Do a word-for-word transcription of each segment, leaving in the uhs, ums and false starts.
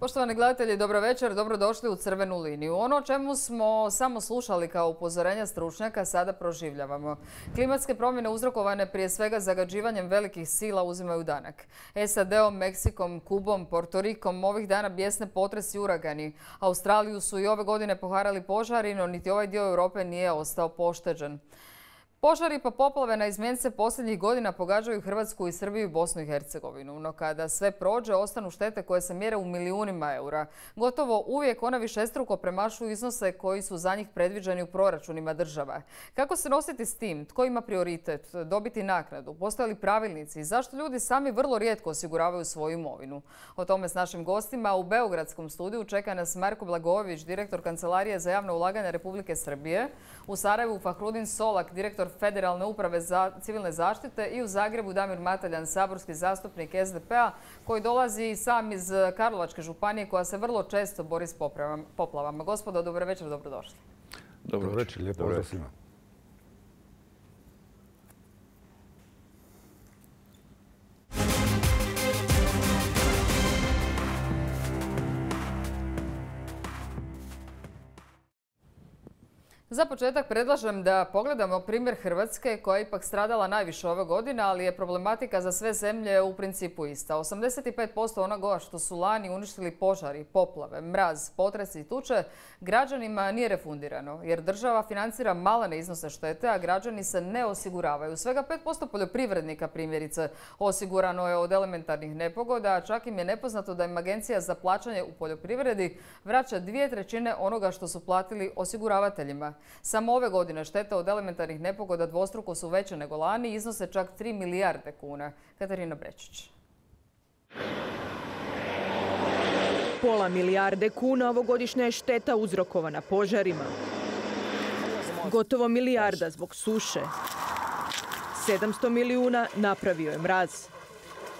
Poštovani gledatelji, dobro večer, dobrodošli u Crvenu liniju. Ono o čemu smo samo slušali kao upozorenja stručnjaka sada proživljavamo. Klimatske promjene uzrokovane prije svega zagađivanjem velikih sila uzimaju danak. S A D-om, Meksikom, Kubom, Portorikom ovih dana bijesne potresi i uragani. Australiju su i ove godine poharali požari, no niti ovaj dio Europe nije ostao pošteđen. Požari pa poplave na izmjence posljednjih godina pogađaju Hrvatsku i Srbiju i Bosnu i Hercegovinu. No kada sve prođe, ostanu štete koje se mjere u milijunima eura. Gotovo uvijek ona višestruko premašuju iznose koji su za njih predviđeni u proračunima država. Kako se nositi s tim? Tko ima prioritet? Dobiti naknadu? Postoje li pravilnici? Zašto ljudi sami vrlo rijetko osiguravaju svoju imovinu? O tome s našim gostima u beogradskom studiju čeka nas Marko Blagojević, direktor Kancelarije za javno ulaganje Republike Srbije, u Sarajevu Fahrudin Solak, direktor Federalne uprave za civilne zaštite, i u Zagrebu Damir Mataljan, saborski zastupnik S D P-a koji dolazi sam iz Karlovačke županije koja se vrlo često bori s poplavama. Gospodo, dobro večer, dobrodošli. Dobro večer, lijepo pozdrav svima. Za početak predlažem da pogledamo primjer Hrvatske koja je ipak stradala najviše ove godine, ali je problematika za sve zemlje u principu ista. osamdeset pet posto onoga što su lani uništili požari, poplave, mraz, potresi i tuče građanima nije refundirano, jer država financira malene iznose štete, a građani se ne osiguravaju. Svega pet posto poljoprivrednika primjerice osigurano je od elementarnih nepogoda, a čak im je nepoznato da im Agencija za plaćanje u poljoprivredi vraća dvije trećine onoga što su platili osiguravateljima. Samo ove godine štete od elementarnih nepogoda dvostruko su veće nego lani i iznose čak tri milijarde kuna. Katarina Brečić. Pola milijarde kuna ovogodišnja je šteta uzrokovana požarima. Gotovo milijarda zbog suše. sedamsto milijuna napravio je mraz.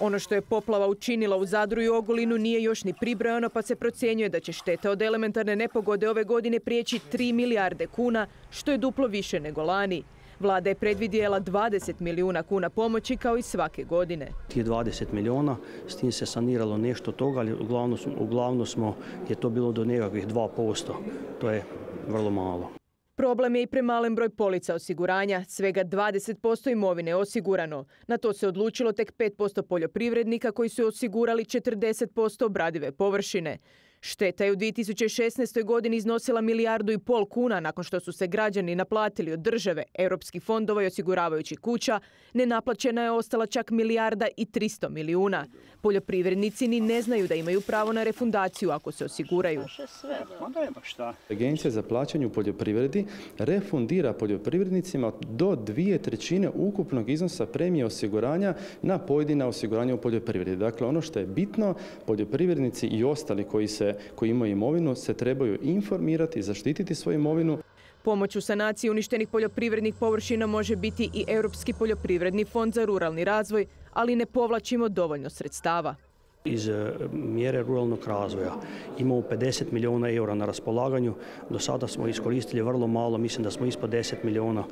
Ono što je poplava učinila u Zadru i Ogulinu nije još ni pribrojano, pa se procjenjuje da će šteta od elementarne nepogode ove godine prijeći tri milijarde kuna, što je duplo više nego lani. Vlada je predvidjela dvadeset milijuna kuna pomoći kao i svake godine. Tih dvadeset milijuna, s tim se saniralo nešto toga, ali uglavnom, uglavnom smo, je to bilo do nekakvih dva posto. To je vrlo malo. Problem je i premalen broj polica osiguranja. Svega dvadeset posto imovine je osigurano. Na to se odlučilo tek pet posto poljoprivrednika koji su osigurali četrdeset posto obradive površine. Šteta je u dvije tisuće šesnaestoj. godini iznosila milijardu i pol kuna nakon što su se građani naplatili od države, europskih fondova i osiguravajućih kuća. Nenaplaćena je ostala čak milijarda i tristo milijuna. Poljoprivrednici ni ne znaju da imaju pravo na refundaciju ako se osiguraju. Agencija za plaćanje u poljoprivredi refundira poljoprivrednicima do dvije trećine ukupnog iznosa premije osiguranja na pojedina osiguranja u poljoprivredi. Dakle, ono što je bitno, poljoprivrednici i ostali koji se koji imaju imovinu se trebaju informirati i zaštititi svoju imovinu. Pomoć u sanaciji uništenih poljoprivrednih površina može biti i Europski poljoprivredni fond za ruralni razvoj, ali ne povlačimo dovoljno sredstava. Iz mjere ruralnog razvoja imamo pedeset milijuna eura na raspolaganju. Do sada smo iskoristili vrlo malo, mislim da smo ispod deset milijuna.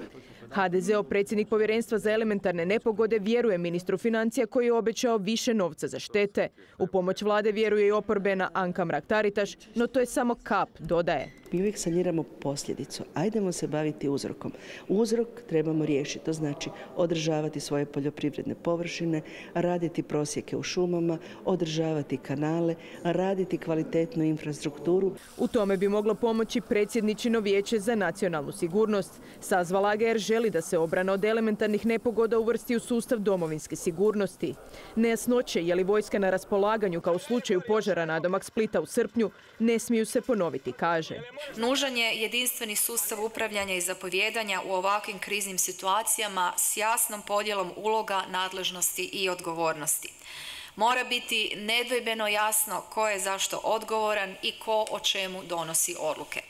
H D Z-ov predsjednik Povjerenstva za elementarne nepogode vjeruje ministru financija koji je obećao više novca za štete. U pomoć vlade vjeruje i oporbena Anka Mrak-Taritaš, no to je samo kap, dodaje. Mi uvijek saniramo posljedicu. Ajdemo se baviti uzrokom. Uzrok trebamo riješiti. To znači održavati svoje poljoprivredne površine, raditi prosjeke u šumama, održavati kanale, raditi kvalitetnu infrastrukturu. U tome bi moglo pomoći predsjedničino vijeće za nacionalnu sigurnost. Sazvala ga jer želi da se obrana od elementarnih nepogoda uvrsti u sustav domovinske sigurnosti. Nejasnoće je li vojska na raspolaganju kao u slučaju požara nadomak Splita u srpnju ne smiju se ponoviti, kaže. Nužan je jedinstveni sustav upravljanja i zapovijedanja u ovakvim kriznim situacijama s jasnom podjelom uloga, nadležnosti i odgovornosti. Mora biti nedvojbeno jasno ko je zašto odgovoran i ko o čemu donosi odluke.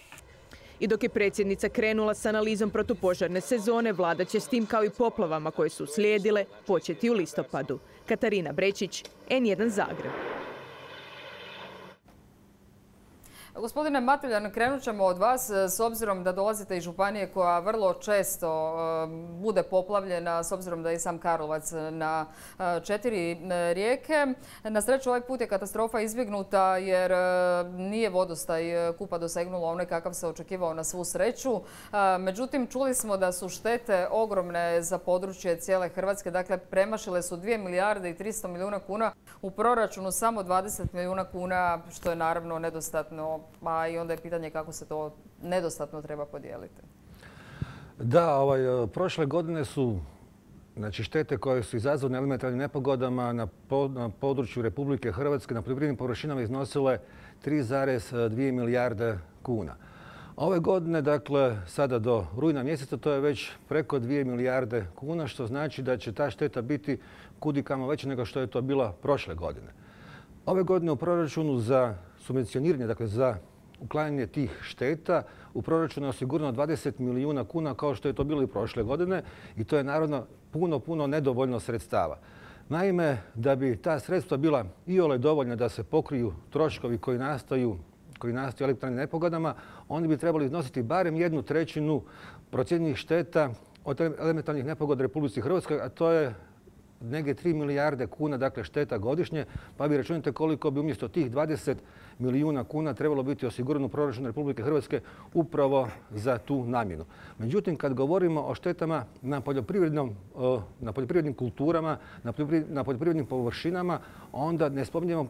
I dok je predsjednica krenula s analizom protupožarne sezone, vlada će s tim kao i poplavama koje su slijedile početi u listopadu. Katarina Brečić, N jedan Zagreb. Gospodine Mateljan, krenut ćemo od vas s obzirom da dolazite iz županije koja vrlo često bude poplavljena, s obzirom da je i sam Karlovac na četiri rijeke. Na sreću ovaj put je katastrofa izbjegnuta jer nije vodostaj Kupa dosegnulo onaj kakav se očekivao na svu sreću. Međutim, čuli smo da su štete ogromne za područje cijele Hrvatske. Dakle, premašile su dvije milijarde i tristo milijuna kuna, u proračunu samo dvadeset milijuna kuna, što je naravno nedostatno. Pa i onda je pitanje kako se to nedostatno treba podijeliti. Da, ovaj, prošle godine su znači, štete koje su izazvane elementarnim nepogodama na, po, na području Republike Hrvatske na poljoprivrednim površinama iznosile tri zarez dvije milijarde kuna. Ove godine, dakle, sada do rujna mjeseca, to je već preko dvije milijarde kuna, što znači da će ta šteta biti kudikamo veća nego što je to bila prošle godine. Ove godine u proračunu za subvencioniranje, dakle za uklanjanje tih šteta, u proračunu je osigurano dvadeset milijuna kuna kao što je to bilo i prošle godine i to je naravno puno, puno nedovoljno sredstava. Naime, da bi ta sredstva bila iole dovoljna da se pokriju troškovi koji nastaju koji nastaju elementarnim nepogodama, oni bi trebali iznositi barem jednu trećinu procijenjenih šteta od elementarnih nepogoda Republici Hrvatskoj, a to je negdje tri milijarde kuna, dakle šteta godišnje, pa vi računate koliko bi umjesto tih dvadeset milijuna kuna trebalo biti osigurano u proračunu Republike Hrvatske upravo za tu namjenu. Međutim, kad govorimo o štetama na, poljoprivrednom, na poljoprivrednim kulturama, na poljoprivrednim površinama, onda ne spominjemo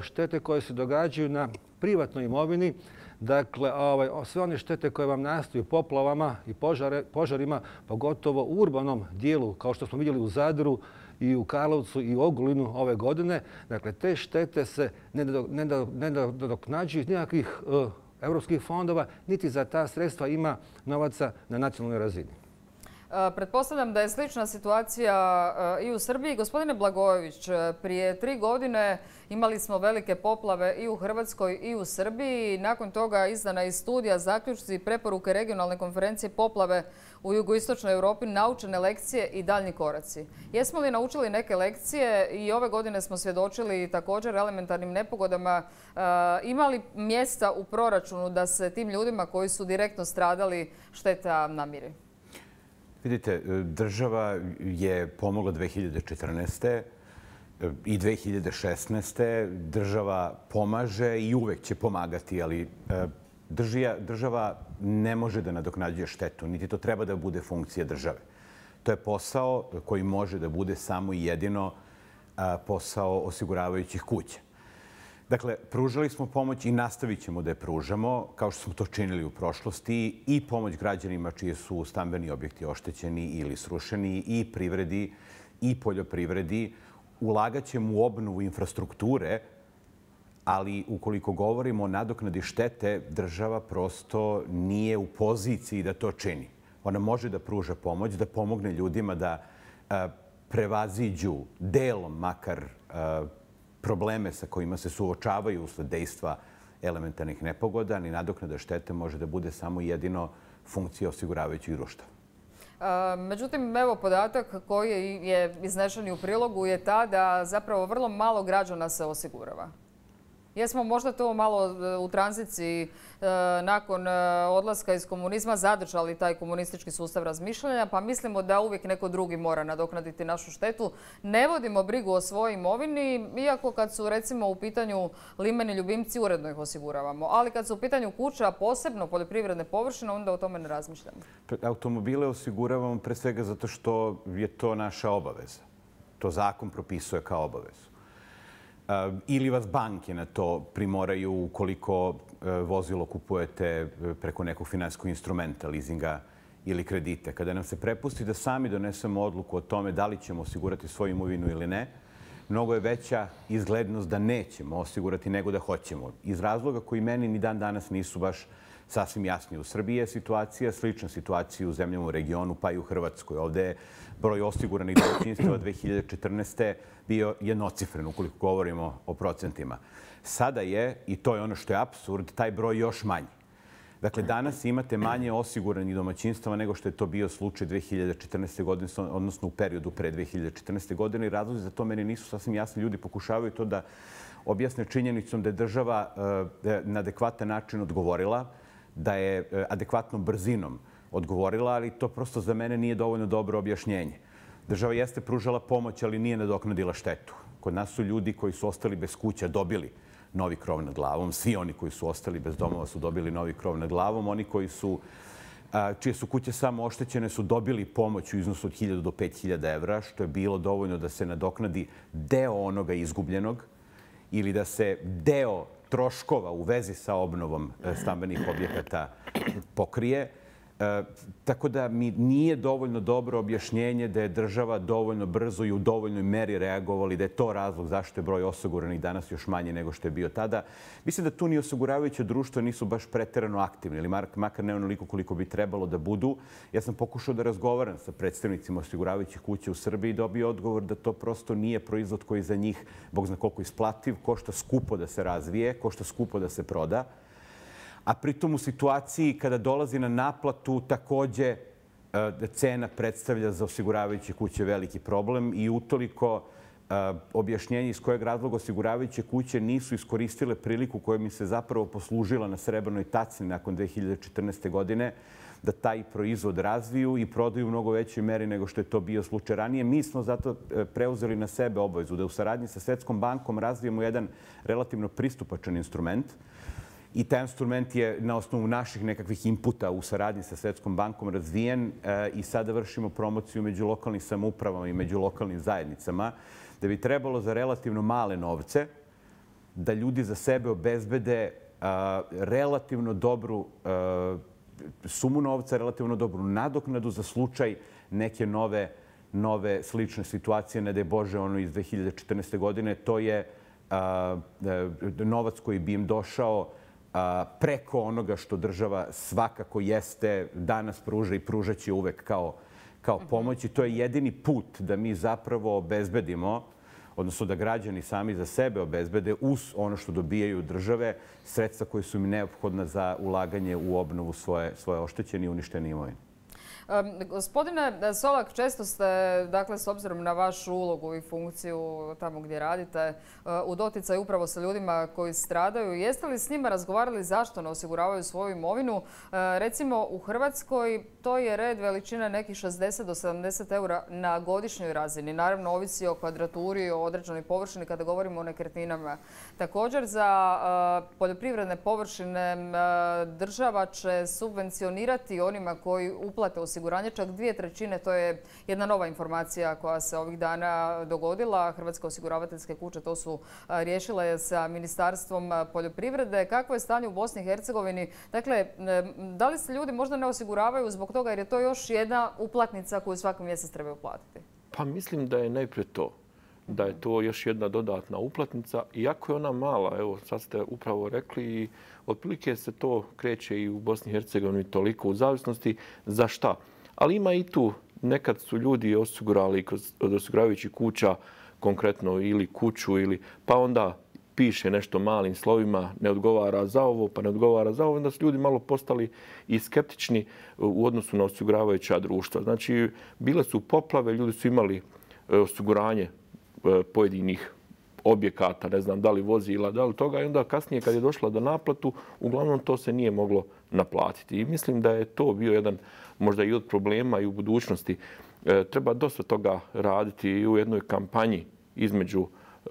štete koje se događaju na privatnoj imovini. Dakle, ovaj, sve one štete koje vam nastaju poplavama i požare, požarima, pogotovo u urbanom dijelu, kao što smo vidjeli u Zadru i u Karlovcu i u Ogulinu ove godine. Dakle, te štete se ne nadoknađuju iz nikakvih uh, europskih fondova, niti za ta sredstva ima novaca na nacionalnoj razini. Pretpostavljam da je slična situacija i u Srbiji. Gospodine Blagojević, prije tri godine imali smo velike poplave i u Hrvatskoj i u Srbiji. Nakon toga izdana je studija, zaključci i preporuke regionalne konferencije poplave u jugoistočnoj Europi, naučene lekcije i daljnji koraci. Jesmo li naučili neke lekcije i ove godine smo svjedočili također elementarnim nepogodama? Ima li mjesta u proračunu da se tim ljudima koji su direktno stradali šteta namiri? Vidite, država je pomogla dve hiljade četrnaeste. i dve hiljade šesnaeste. Država pomaže i uvek će pomagati, ali država ne može da nadoknađuje štetu, niti to treba da bude funkcija države. To je posao koji može da bude samo i jedino posao osiguravajućih kuća. Dakle, pružali smo pomoć i nastavit ćemo da je pružamo, kao što smo to činili u prošlosti, i pomoć građanima čiji su stambeni objekti oštećeni ili srušeni, i privredi, i poljoprivredi. Ulagat ćemo u obnovu infrastrukture, ali ukoliko govorimo o nadoknadi štete, država prosto nije u poziciji da to čini. Ona može da pruža pomoć, da pomogne ljudima da prevaziđu delom makar probleme sa kojima se suočavaju usled dejstva elementarnih nepogoda, ni nadoknada štete može da bude samo jedino funkcija osiguravajućih društva. Međutim, evo podatak koji je iznešen u prilogu je ta da zapravo vrlo malo građana se osigurava. Jesmo možda to malo u tranziciji nakon odlaska iz komunizma zadržali taj komunistički sustav razmišljanja, pa mislimo da uvijek neko drugi mora nadoknaditi našu štetu. Ne vodimo brigu o svojoj imovini, iako kad su recimo u pitanju limeni ljubimci uredno ih osiguravamo. Ali kad su u pitanju kuća, posebno poljoprivredne površine, onda o tome ne razmišljamo. Automobile osiguravamo pre svega zato što je to naša obaveza. To zakon propisuje kao obavezu. Ili vas banke na to primoraju ukoliko vozilo kupujete preko nekog finansijskog instrumenta, leasinga ili kredite. Kada nam se prepusti da sami donesemo odluku o tome da li ćemo osigurati svoju imovinu ili ne, mnogo je veća izglednost da nećemo osigurati nego da hoćemo. Iz razloga koji meni ni dan danas nisu baš sasvim jasni. U Srbiji je situacija slična situaciji u zemljama u regionu, pa i u Hrvatskoj. Ovdje je broj osiguranih domaćinstava dve hiljade četrnaeste. bio jednocifren, ukoliko govorimo o procentima. Sada je, i to je ono što je apsurd, taj broj još manji. Dakle, danas imate manje osiguranih domaćinstava nego što je to bio slučaj dve hiljade četrnaeste. godine, odnosno u periodu pre dve hiljade četrnaeste. godine. I razlozi za to meni nisu sasvim jasni. Ljudi pokušavaju to da objasne činjenicom da je država na adekvatan način odgovorila, da je adekvatnom brzinom odgovorila, ali to prosto za mene nije dovoljno dobro objašnjenje. Država jeste pružala pomoć, ali nije nadoknadila štetu. Kod nas su ljudi koji su ostali bez kuća dobili novi krov nad glavom. Svi oni koji su ostali bez domova su dobili novi krov nad glavom. Oni koji su, čije su kuće samo oštećene su dobili pomoć u iznosu od hiljadu do pet hiljada evra, što je bilo dovoljno da se nadoknadi deo onoga izgubljenog ili da se deo troškova u vezi sa obnovom stambenih objekata pokrije. Tako da mi nije dovoljno dobro objašnjenje da je država dovoljno brzo i u dovoljnoj meri reagovala i da je to razlog zašto je broj osiguranih danas još manje nego što je bio tada. Mislim da tu ni osiguravajuće društva nisu baš preterano aktivni ili makar ne onoliko koliko bi trebalo da budu. Ja sam pokušao da razgovaram sa predstavnicima osiguravajućih kuća u Srbiji i dobio odgovor da to prosto nije proizvod koji za njih, bog zna koliko isplativ, košta skupo da se razvije, košta skupo da se proda. A pritom u situaciji kada dolazi na naplatu takođe cena predstavlja za osiguravajuće kuće veliki problem i utoliko objašnjenje iz kojeg razloga osiguravajuće kuće nisu iskoristile priliku koja mi se zapravo poslužila na srebrnoj taci nakon dve hiljade četrnaeste. godine da taj proizvod razviju i prodaju u mnogo većoj meri nego što je to bio slučaj ranije. Mi smo zato preuzeli na sebe obavezu da u saradnji sa Svetskom bankom razvijemo jedan relativno pristupačan instrument. I taj instrument je na osnovu naših nekakvih inputa u saradnji sa Svetskom bankom razvijen i sada vršimo promociju među lokalnim samoupravama i među lokalnim zajednicama, da bi trebalo za relativno male novce da ljudi za sebe obezbede relativno dobru sumu novca, relativno dobru nadoknadu za slučaj neke nove, nove slične situacije, ne daj Bože ono iz dve hiljade četrnaeste. godine. To je novac koji bi im došao preko onoga što država svakako jeste, danas pruža i pružat će uvek kao, kao pomoć. I to je jedini put da mi zapravo obezbedimo, odnosno da građani sami za sebe obezbede uz ono što dobijaju države, sredstva koje su im neophodna za ulaganje u obnovu svoje, svoje oštećene i uništene imovine. Gospodine Solak, često ste, dakle, s obzirom na vašu ulogu i funkciju tamo gdje radite, u doticaju upravo sa ljudima koji stradaju. Jeste li s njima razgovarali zašto ne osiguravaju svoju imovinu? Recimo, u Hrvatskoj to je red veličine nekih šezdeset do sedamdeset eura na godišnjoj razini. Naravno, ovisi o kvadraturi, o određenoj površini kada govorimo o nekretninama. Također, za poljoprivredne površine država će subvencionirati onima koji uplate osiguranje čak dvije trećine. To je jedna nova informacija koja se ovih dana dogodila. Hrvatske osiguravateljske kuće to su riješile sa Ministarstvom poljoprivrede. Kakvo je stanje u Bosni i Hercegovini? Dakle, da li se ljudi možda ne osiguravaju zbog toga jer je to još jedna uplatnica koju svaki mjesec trebaju platiti? Pa mislim da je najprije to. Da je to još jedna dodatna uplatnica. Iako je ona mala, evo sad ste upravo rekli, i otprilike se to kreće i u Bosni i Hercegovini toliko u zavisnosti za šta. Ali ima i tu, nekad su ljudi osigurali od osiguravajućih kuća konkretno ili kuću, ili pa onda piše nešto malim slovima, ne odgovara za ovo, pa ne odgovara za ovo. Onda su ljudi malo postali i skeptični u odnosu na osiguravajuća društva. Znači, bile su poplave, ljudi su imali osiguranje pojedinih objekata, ne znam da li vozila, da li toga. I onda kasnije kad je došla do naplatu, uglavnom to se nije moglo naplatiti. I mislim da je to bio jedan možda i od problema i u budućnosti. E, treba dosta toga raditi i u jednoj kampanji između e,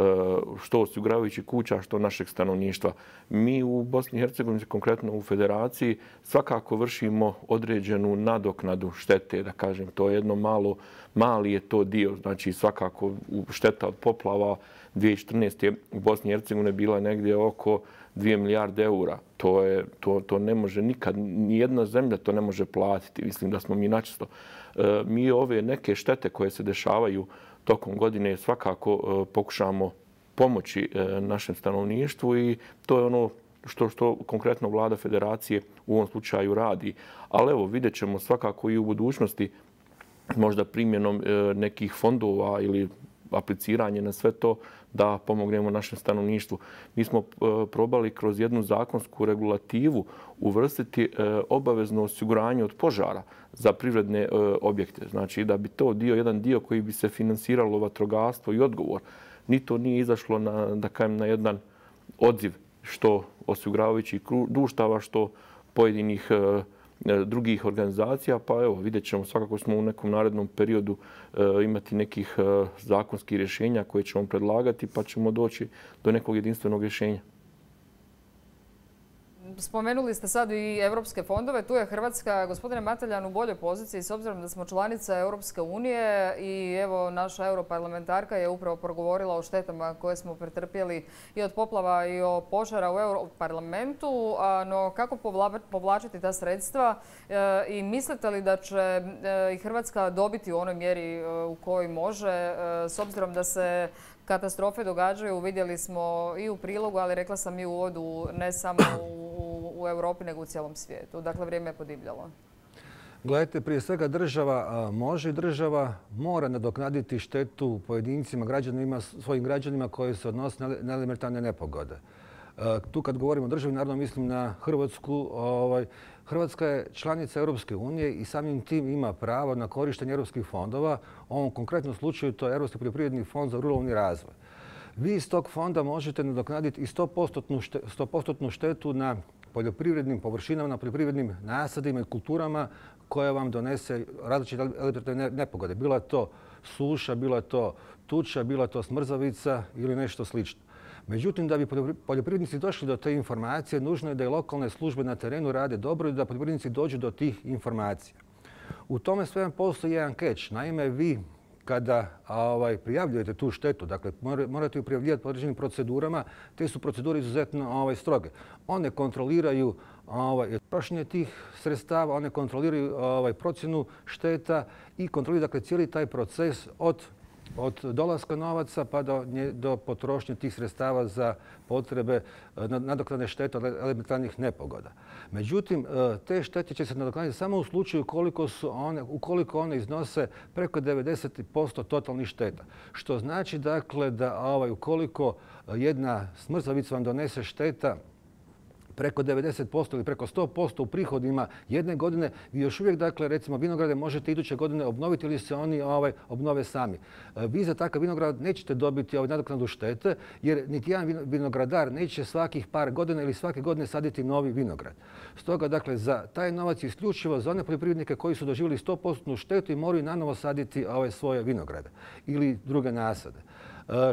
što osiguravajućih kuća, što našeg stanovništva. Mi u Bosni i Hercegovini, konkretno u Federaciji, svakako vršimo određenu nadoknadu štete, da kažem. To je jedno malo, mali je to dio. Znači svakako šteta od poplava dvije hiljade četrnaeste. u Bosni i Hercegovini bila negdje oko dvije milijarde eura. To, je, to, to ne može nikad, nijedna zemlja to ne može platiti. Mislim da smo mi načisto. E, mi ove neke štete koje se dešavaju tokom godine svakako e, pokušamo pomoći e, našem stanovništvu i to je ono što, što konkretno vlada Federacije u ovom slučaju radi. Ali evo, vidjet ćemo svakako i u budućnosti možda primjenom e, nekih fondova ili apliciranje na sve to da pomognemo našem stanovništvu. Mi smo probali kroz jednu zakonsku regulativu uvrstiti obavezno osiguranje od požara za privredne objekte. Znači da bi to dio, jedan dio koji bi se finansiralo vatrogastvo i odgovor ni to nije izašlo na, da kajem, na jedan odziv što osiguravajućih društava, što pojedinih drugih organizacija, pa evo, vidjet ćemo, svakako smo u nekom narednom periodu imati nekih zakonskih rješenja koje ćemo predlagati, pa ćemo doći do nekog jedinstvenog rješenja. Spomenuli ste sad i evropske fondove. Tu je Hrvatska, gospodine Mateljan, u boljoj poziciji s obzirom da smo članica Europske unije i evo naša europarlamentarka je upravo progovorila o štetama koje smo pretrpjeli i od poplava i o požara u Europarlamentu. No kako povlačiti ta sredstva i mislite li da će i Hrvatska dobiti u onoj mjeri u kojoj može s obzirom da se katastrofe događaju, vidjeli smo i u prilogu, ali rekla sam i u uvodu, ne samo u, u Europi, nego u cijelom svijetu. Dakle, vrijeme je podivljalo. Gledajte, prije svega država može i država mora nadoknaditi štetu pojedincima, građanima, svojim građanima koji se odnose na elementarne nepogode. Tu kad govorimo o državi, naravno mislim na Hrvatsku. Ovaj, Hrvatska je članica Europske unije i samim tim ima pravo na korištenje europskih fondova. U ovom konkretnom slučaju to je Europski poljoprivredni fond za ruralni razvoj. Vi iz tog fonda možete nadoknaditi i sto posto štetu na poljoprivrednim površinama, na poljoprivrednim nasadima i kulturama koje vam donese različite elementarne nepogode. Bila je to suša, bila je to tuča, bila je to smrzavica ili nešto slično. Međutim, da bi poljoprivrednici došli do te informacije, nužno je da i lokalne službe na terenu rade dobro i da poljoprivrednici dođu do tih informacija. U tome svemu postoji jedan catch. Naime, vi kada ovaj, prijavljujete tu štetu, dakle morate ju prijavljivati po određenim procedurama, te su procedure izuzetno ovaj, stroge. One kontroliraju ovaj, trošenje tih sredstava, one kontroliraju ovaj, procjenu šteta i kontroliraju dakle, cijeli taj proces od od dolaska novaca pa do, do potrošnje tih sredstava za potrebe nadoknade štete od elementarnih nepogoda. Međutim, te štete će se nadoknaditi samo u slučaju koliko su one, ukoliko one iznose preko devedeset posto totalnih šteta. Što znači dakle da ovaj, ukoliko jedna smrzavica vam donese šteta preko devedeset posto ili preko sto posto u prihodima jedne godine, vi još uvijek, dakle, recimo, vinograde možete iduće godine obnoviti ili se oni ovaj, obnove sami. Vi za takav vinograd nećete dobiti ovaj, nadoknadu štete, jer niti jedan vinogradar neće svakih par godina ili svake godine saditi novi vinograd. Stoga, dakle, za taj novac isključivo za one poljoprivrednike koji su doživjeli sto posto štetu i moraju nanovo saditi ovaj, svoje vinograde ili druge nasade.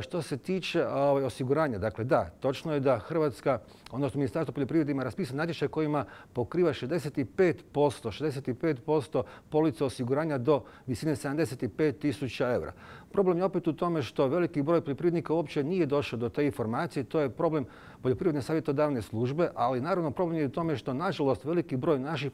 Što se tiče ovaj, osiguranja, dakle da, točno je da Hrvatska, odnosno Ministarstvo poljoprivrede ima raspisan natječaj kojima pokriva šezdeset pet posto, šezdeset pet posto police osiguranja do visine sedamdeset pet tisuća eura. Problem je opet u tome što veliki broj poljoprivrednika uopće nije došao do te informacije. To je problem poljoprivredne savjetodavne službe, ali naravno problem je u tome što nažalost veliki broj naših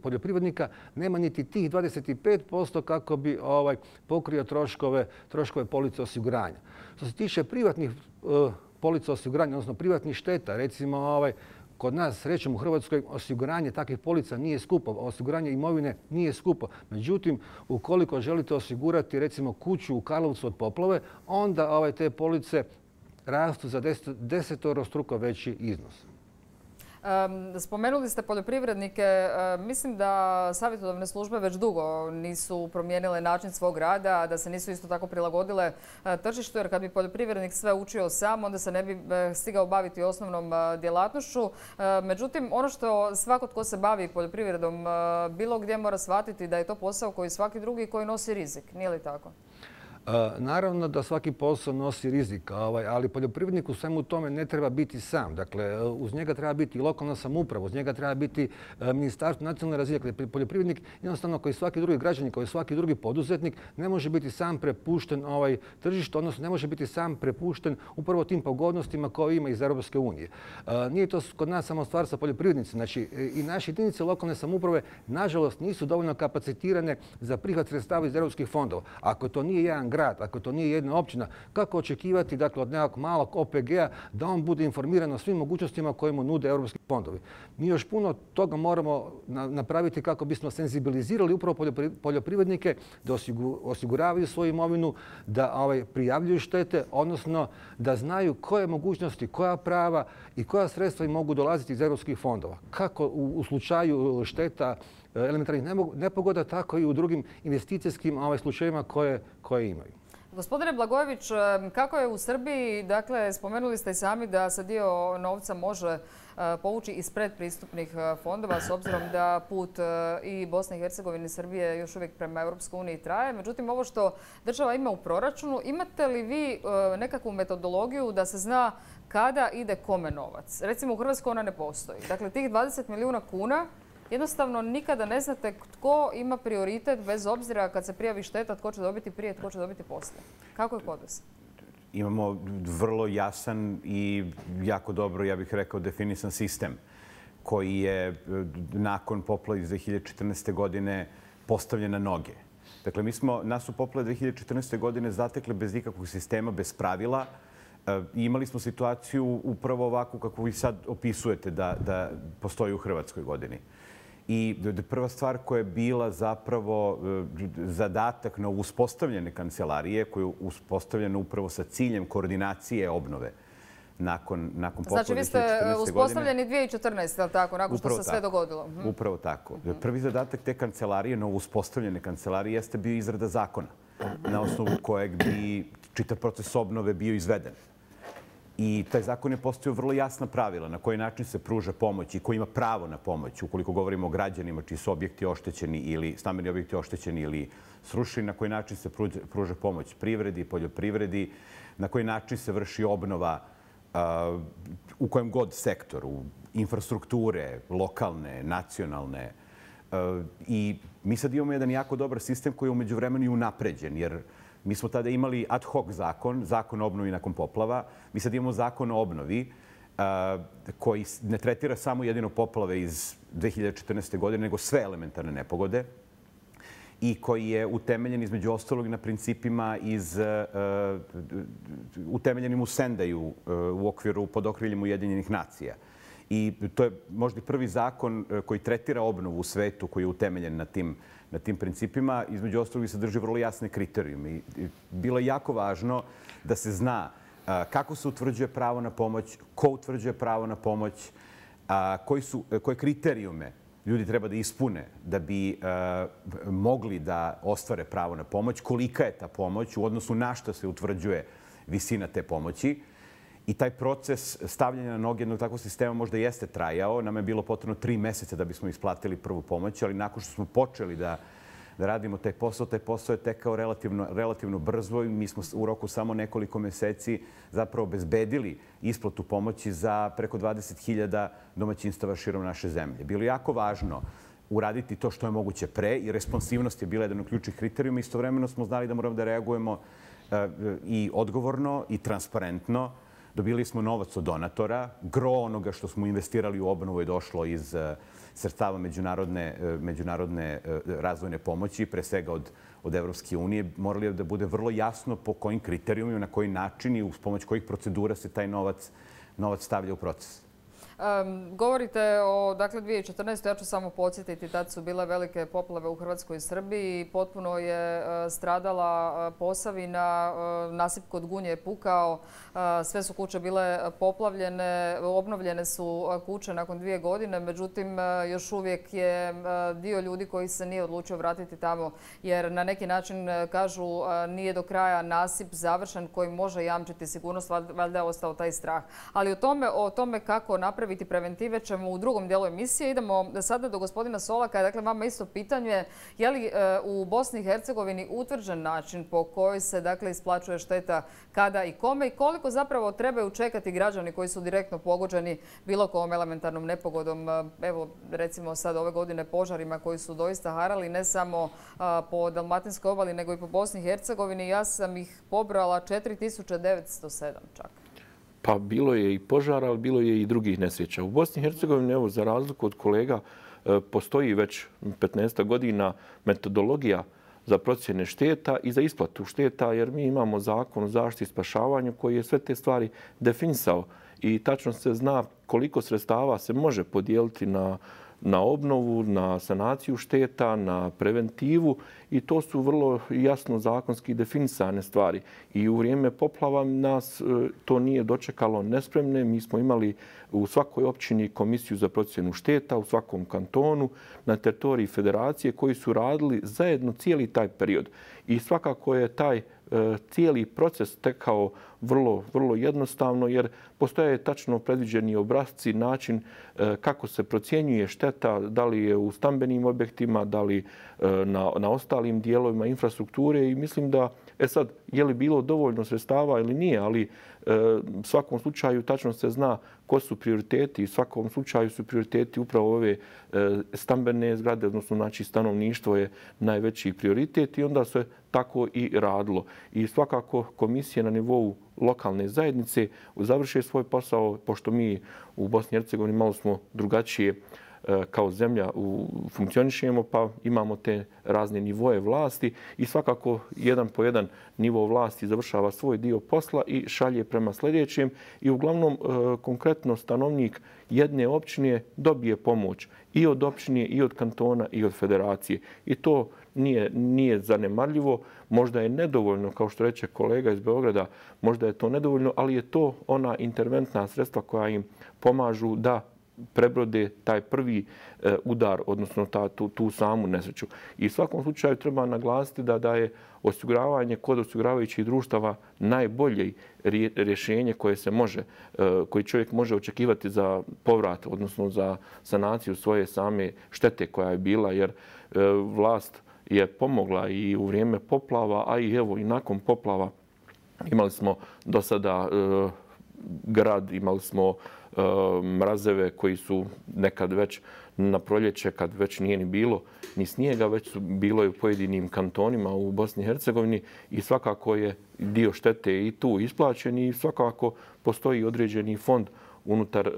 poljoprivrednika nema niti tih dvadeset pet posto kako bi ovaj, pokrio troškove, troškove police osiguranja. Što se tiče privatnih uh, polica osiguranja, odnosno privatnih šteta, recimo ovaj, kod nas, srećom u Hrvatskoj, osiguranje takvih polica nije skupo, osiguranje imovine nije skupo. Međutim, ukoliko želite osigurati recimo kuću u Karlovcu od poplave, onda ovaj, te police rastu za desetorostruko veći iznos. Spomenuli ste poljoprivrednike. Mislim da savjetodavne službe već dugo nisu promijenile način svog rada, da se nisu isto tako prilagodile tržištu, jer kad bi poljoprivrednik sve učio sam, onda se ne bi stigao baviti osnovnom djelatnošću. Međutim, ono što svako tko se bavi poljoprivredom bilo gdje mora shvatiti da je to posao koji svaki drugi koji nosi rizik. Nije li tako? Naravno da svaki posao nosi rizik, ali poljoprivrednik u svemu tome ne treba biti sam. Dakle, uz njega treba biti i lokalna samouprava, uz njega treba biti ministarstvo nacionalne razine. Dakle, poljoprivrednik jednostavno koji svaki drugi građanin, koji svaki drugi poduzetnik ne može biti sam prepušten ovaj tržištu, odnosno ne može biti sam prepušten upravo tim pogodnostima koje ima iz Europske unije. Nije to kod nas samo stvar sa poljoprivrednicima. Znači, i naše jedinice lokalne samouprave nažalost nisu dovoljno kapacitirane za prihvat sredstava iz europskih fondova. Ako to nije jedan grad, ako to nije jedna općina, kako očekivati dakle, od nekog malog O P G-a da on bude informiran o svim mogućnostima koje mu nude europski fondovi? Mi još puno toga moramo napraviti kako bismo senzibilizirali upravo poljoprivrednike da osiguravaju svoju imovinu, da ovaj, prijavljuju štete, odnosno da znaju koje mogućnosti, koja prava i koja sredstva im mogu dolaziti iz europskih fondova. Kako u, u slučaju šteta elementarnih nepogoda, tako i u drugim investicijskim ovaj, slučajevima koje, koje imaju. Gospodine Blagojević, kako je u Srbiji, dakle, spomenuli ste i sami da se dio novca može povući iz predpristupnih fondova, s obzirom da put i Bosne i Hercegovine i Srbije još uvijek prema Europskoj uniji traje. Međutim, ovo što država ima u proračunu, imate li vi nekakvu metodologiju da se zna kada ide kome novac? Recimo, u Hrvatskoj ona ne postoji. Dakle, tih dvadeset milijuna kuna jednostavno nikada ne znate tko ima prioritet, bez obzira kad se prijavi šteta, tko će dobiti prije, tko će dobiti poslije. Kako je kod vas? Imamo vrlo jasan i jako dobro, ja bih rekao, definisan sistem koji je nakon poplave iz dve hiljade četrnaeste. godine postavljen na noge. Dakle, mi smo, nas u poplave dve hiljade četrnaeste. godine zatekli bez ikakvog sistema, bez pravila. I imali smo situaciju upravo ovakvu kako vi sad opisujete da, da postoji u Hrvatskoj godini. I prva stvar koja je bila zapravo zadatak na uspostavljene kancelarije, koja je uspostavljena upravo sa ciljem koordinacije obnove nakon, nakon poplave znači, vi ste uspostavljeni dvije hiljade četrnaeste. ali tako, nakon što se sve dogodilo? Hm. Upravo tako. Prvi zadatak te kancelarije, novo uspostavljene kancelarije, jeste bio izrada zakona na osnovu kojeg bi čitav proces obnove bio izveden. I taj zakon je postavio vrlo jasna pravila na koji način se pruža pomoć i ko ima pravo na pomoć, ukoliko govorimo o građanima čiji su objekti oštećeni ili stambeni objekti oštećeni ili srušeni, na koji način se pruža pomoć privredi, poljoprivredi, na koji način se vrši obnova uh, u kojem god sektoru, infrastrukture, lokalne, nacionalne. Uh, I mi sad imamo jedan jako dobar sistem koji je umeđu vremenu i unapređen, jer mi smo tada imali ad hoc zakon, zakon o obnovi nakon poplava. Mi sad imamo zakon o obnovi koji ne tretira samo jedino poplave iz dve hiljade četrnaeste. godine, nego sve elementarne nepogode i koji je utemeljen između ostalog na principima iz, utemeljenim u Sendaju u okviru pod okriljem Ujedinjenih nacija. I to je možda prvi zakon koji tretira obnovu u svetu, koji je utemeljen na tim na tim principima. Između ostalog i sadrži vrlo jasne kriterijume. Bilo je jako važno da se zna kako se utvrđuje pravo na pomoć, ko utvrđuje pravo na pomoć, koji su, koje kriterijume ljudi treba da ispune da bi mogli da ostvare pravo na pomoć, kolika je ta pomoć u odnosu na što se utvrđuje visina te pomoći. I taj proces stavljanja na noge jednog takvog sistema možda jeste trajao. Nam je bilo potrebno tri meseca da bismo isplatili prvu pomoć, ali nakon što smo počeli da, da radimo taj posao, taj posao je tekao relativno, relativno brzo i mi smo u roku samo nekoliko meseci zapravo obezbedili isplatu pomoći za preko dvadeset hiljada domaćinstava širom naše zemlje. Bilo je jako važno uraditi to što je moguće pre i responsivnost je bila jedan od ključnih kriterijuma. Istovremeno smo znali da moramo da reagujemo uh, i odgovorno i transparentno. Dobili smo novac od donatora. Gro onoga što smo investirali u obnovu je došlo iz sredstava međunarodne, međunarodne razvojne pomoći, pre svega od, od Evropske unije. Morali je da bude vrlo jasno po kojim kriterijumima, na koji način i uz pomoć kojih procedura se taj novac, novac stavlja u proces. Um, govorite o dakle, dvije hiljade četrnaeste. Ja ću samo podsjetiti, tad su bile velike poplave u Hrvatskoj i Srbiji. Potpuno je uh, stradala uh, Posavina, uh, nasip kod Gunje je pukao, uh, sve su kuće bile poplavljene, obnovljene su uh, kuće nakon dvije godine. Međutim, uh, još uvijek je uh, dio ljudi koji se nije odlučio vratiti tamo, jer na neki način uh, kažu uh, nije do kraja nasip završen koji može jamčiti sigurnost, valjda je ostao taj strah. Ali o tome, o tome kako napraviti preventive ćemo u drugom dijelu emisije. Idemo sada do gospodina Solaka. Dakle, vama isto pitanje. Je li u Bosni i Hercegovini utvrđen način po kojoj se dakle, isplaćuje šteta kada i kome i koliko zapravo trebaju čekati građani koji su direktno pogođeni bilo kojom elementarnom nepogodom? Evo, recimo sad ove godine požarima koji su doista harali ne samo po Dalmatinskoj obali nego i po Bosni i Hercegovini. Ja sam ih pobrala četiri tisuće devetsto sedam čak. Pa bilo je i požara, ali bilo je i drugih nesreća. U Bosni i Hercegovini, evo, za razliku od kolega, postoji već petnaest godina metodologija za procjene šteta i za isplatu šteta, jer mi imamo zakon o zaštiti i spašavanju koji je sve te stvari definisao i tačno se zna koliko sredstava se može podijeliti na na obnovu, na sanaciju šteta, na preventivu i to su vrlo jasno zakonski definisane stvari. I u vrijeme poplava nas to nije dočekalo nespremne. Mi smo imali u svakoj općini komisiju za procjenu šteta, u svakom kantonu, na teritoriji federacije koji su radili zajedno cijeli taj period. I svakako je taj cijeli proces tekao vrlo, vrlo jednostavno, jer postoje tačno predviđeni obrasci, način kako se procjenjuje šteta, da li je u stambenim objektima, da li na, na ostalim dijelovima infrastrukture i mislim da, e sad, je li bilo dovoljno sredstava ili nije, ali u svakom slučaju tačno se zna ko su prioriteti. U svakom slučaju su prioriteti upravo ove stambene zgrade, odnosno znači stanovništvo je najveći prioritet i onda se tako i radilo. I svakako komisije na nivou lokalne zajednice završe svoj posao, pošto mi u Bosni i Hercegovini malo smo drugačije kao zemlja funkcionišemo, pa imamo te razne nivoje vlasti i svakako jedan po jedan nivo vlasti završava svoj dio posla i šalje prema sljedećem i uglavnom konkretno stanovnik jedne općine dobije pomoć i od općine, i od kantona, i od federacije. I to nije, nije zanemarljivo, možda je nedovoljno, kao što reče kolega iz Beograda, možda je to nedovoljno, ali je to ona interventna sredstva koja im pomažu da prebrode taj prvi udar, odnosno ta, tu, tu samu nesreću. I u svakom slučaju treba naglasiti da, da je osiguravanje kod osiguravajućih društava najbolje rješenje koje se može, koji čovjek može očekivati za povrat, odnosno za sanaciju svoje same štete koja je bila, jer vlast je pomogla i u vrijeme poplava, a i evo i nakon poplava imali smo do sada grad, imali smo mrazeve koji su nekad već na proljeće, kad već nije ni bilo ni snijega, već su bilo i u pojedinim kantonima u Bosni i Hercegovini i svakako je dio štete i tu isplaćen i svakako postoji određeni fond unutar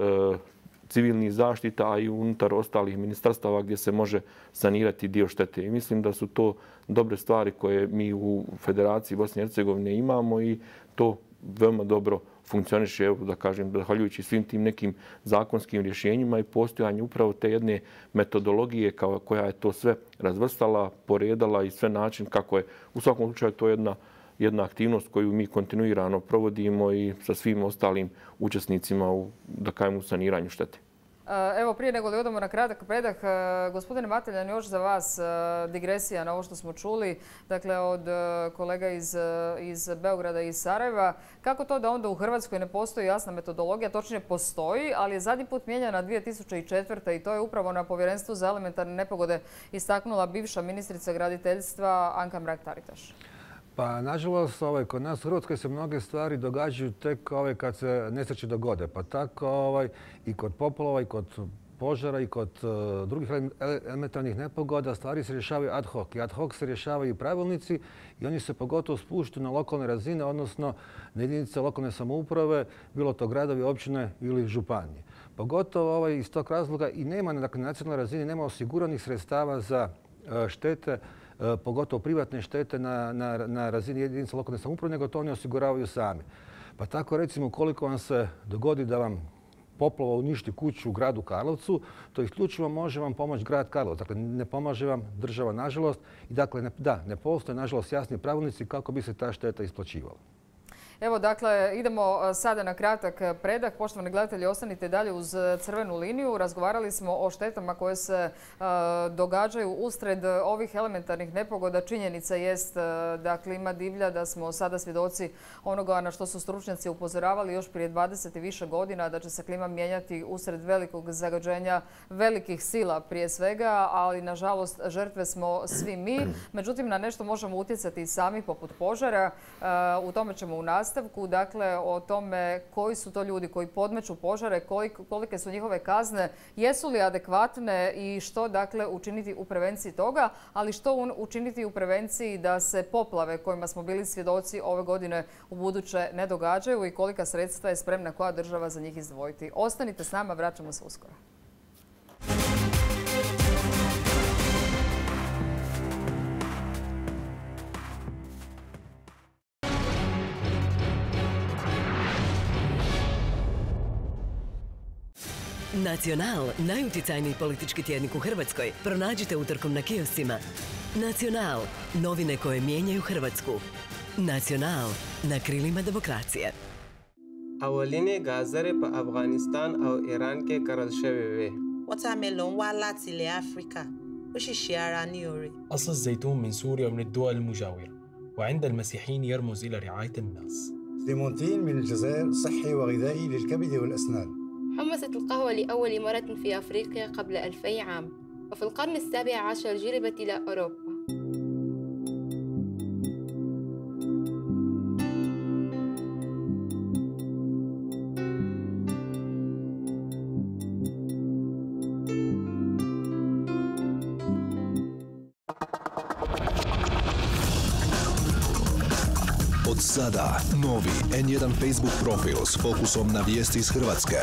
civilnih zaštita, a i unutar ostalih ministarstava gdje se može sanirati dio štete. I mislim da su to dobre stvari koje mi u Federaciji Bosne i Hercegovine imamo i to veoma dobro funkcioniše, evo da kažem, zahvaljujući svim tim nekim zakonskim rješenjima i postojanju upravo te jedne metodologije kao, koja je to sve razvrstala, poredala i sve način kako je. U svakom slučaju to je jedna, jedna aktivnost koju mi kontinuirano provodimo i sa svim ostalim učesnicima u, da kažem, u saniranju štete. Evo, prije nego li odemo na kratak predah, gospodine Mateljan, još za vas digresija na ovo što smo čuli, dakle od kolega iz, iz Beograda i iz Sarajeva. Kako to da onda u Hrvatskoj ne postoji jasna metodologija? Točnije postoji, ali je zadnji put mijenjana dvije tisuće četvrte. i to je upravo na Povjerenstvu za elementarne nepogode istaknula bivša ministrica graditeljstva Anka Mrak-Taritaš. Pa, nažalost, ovaj, kod nas u Hrvatskoj se mnoge stvari događaju tek ovaj, kad se nesreće dogode. Pa tako ovaj, i kod poplava, i kod požara, i kod uh, drugih elementarnih nepogoda stvari se rješavaju ad hoc. I ad hoc se rješavaju pravilnici i oni se pogotovo spuštaju na lokalne razine, odnosno na jedinice lokalne samouprave, bilo to gradovi, općine ili županije. Pogotovo ovaj, iz tog razloga i nema dakle, na nacionalnoj razini nema osiguranih sredstava za uh, štete, pogotovo privatne štete na, na, na razini jedinica lokalne samouprave, nego to oni osiguravaju sami. Pa tako recimo ukoliko vam se dogodi da vam poplava uništi kuću u gradu Karlovcu, to isključivo može vam pomoći grad Karlovac. Dakle, ne pomaže vam država, nažalost. I dakle, ne, da, ne postoje, nažalost, jasni pravilnici kako bi se ta šteta isplaćivala. Evo, dakle, idemo sada na kratak predah. Poštovani gledatelji, ostanite dalje uz crvenu liniju. Razgovarali smo o štetama koje se uh, događaju usred ovih elementarnih nepogoda. Činjenica jest uh, da klima divlja, da smo sada svjedoci onoga na što su stručnjaci upozoravali još prije dvadeset i više godina, da će se klima mijenjati usred velikog zagađenja velikih sila prije svega, ali nažalost žrtve smo svi mi. Međutim, na nešto možemo utjecati i sami poput požara. Uh, u tome ćemo u nastavku. Dakle, o tome koji su to ljudi koji podmeću požare, kolike su njihove kazne, jesu li adekvatne i što dakle učiniti u prevenciji toga, ali što učiniti u prevenciji da se poplave kojima smo bili svjedoci ove godine u buduće ne događaju i kolika sredstva je spremna koja država za njih izdvojiti. Ostanite s nama, vraćamo se uskoro. Nacional, najuticajniji politički tjednik u Hrvatskoj, pronađite utorkom na kioscima. Nacional, novine koje mijenjaju Hrvatsku. Nacional, na krilima demokracije. اولین گازر په افغانستان او ایران کې کرل شوی وي. وترملون والات لأفريقيا وش الشياراني يوري. أصل الزيتون من سوريا ومن الدول المجاورة وعند المسيحيين يرمز إلى رعاية الناس. ليمونتين من الجزائر صحي وغذائي للكبد والأسنان. حمصت القهوة لأول مرة في أفريقيا قبل ألفي عام، وفي القرن السابع عشر جلبت إلى أوروبا. Od sada novi en jedan Facebook profil s fokusom na vijesti iz Hrvatske.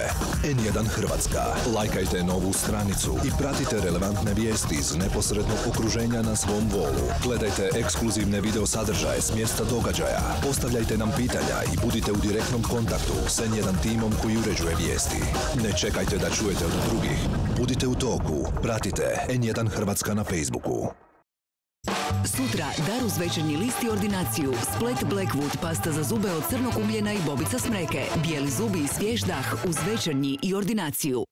en jedan Hrvatska. Lajkajte novu stranicu i pratite relevantne vijesti iz neposrednog okruženja na svom wolu. Gledajte ekskluzivne video sadržaje s mjesta događaja. Postavljajte nam pitanja i budite u direktnom kontaktu s en jedan timom koji uređuje vijesti. Ne čekajte da čujete od drugih. Budite u toku. Pratite en jedan Hrvatska na Facebooku. Sutra dar uz Večernji list i ordinaciju. Splet Blackwood, pasta za zube od crnog ugljena i bobica smreke. Bijeli zubi i svjež dah uz Večernji i ordinaciju.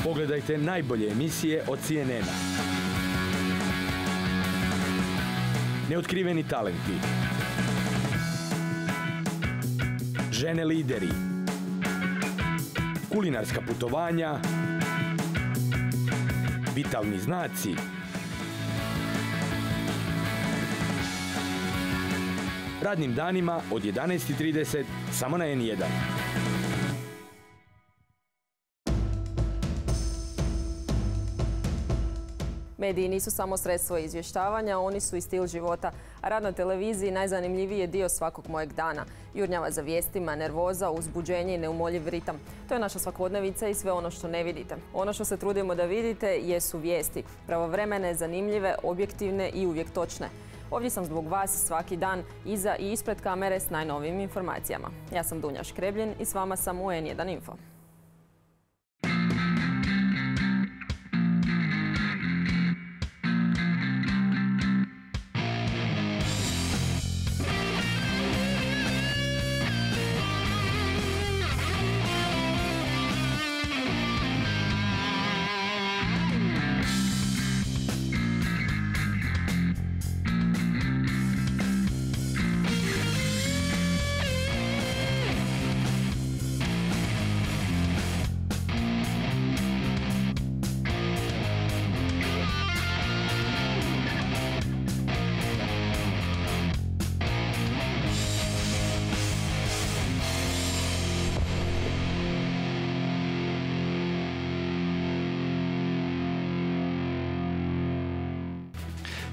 Pogledajte najbolje emisije od C N N-a. Neotkriveni talenti. Žene lideri. Kulinarska putovanja. Vitalni znaci. Radnim danima od jedanaest i trideset samo na en jedan. Mediji nisu samo sredstvo izvještavanja, oni su i stil života. A rad na televiziji najzanimljiviji je dio svakog mojeg dana. Jurnjava za vijestima, nervoza, uzbuđenje i neumoljiv ritam. To je naša svakodnevica i sve ono što ne vidite. Ono što se trudimo da vidite jesu vijesti. Pravovremene, zanimljive, objektivne i uvijek točne. Ovdje sam zbog vas svaki dan iza i ispred kamere s najnovijim informacijama. Ja sam Dunja Škrebljin i s vama sam u en jedan Info.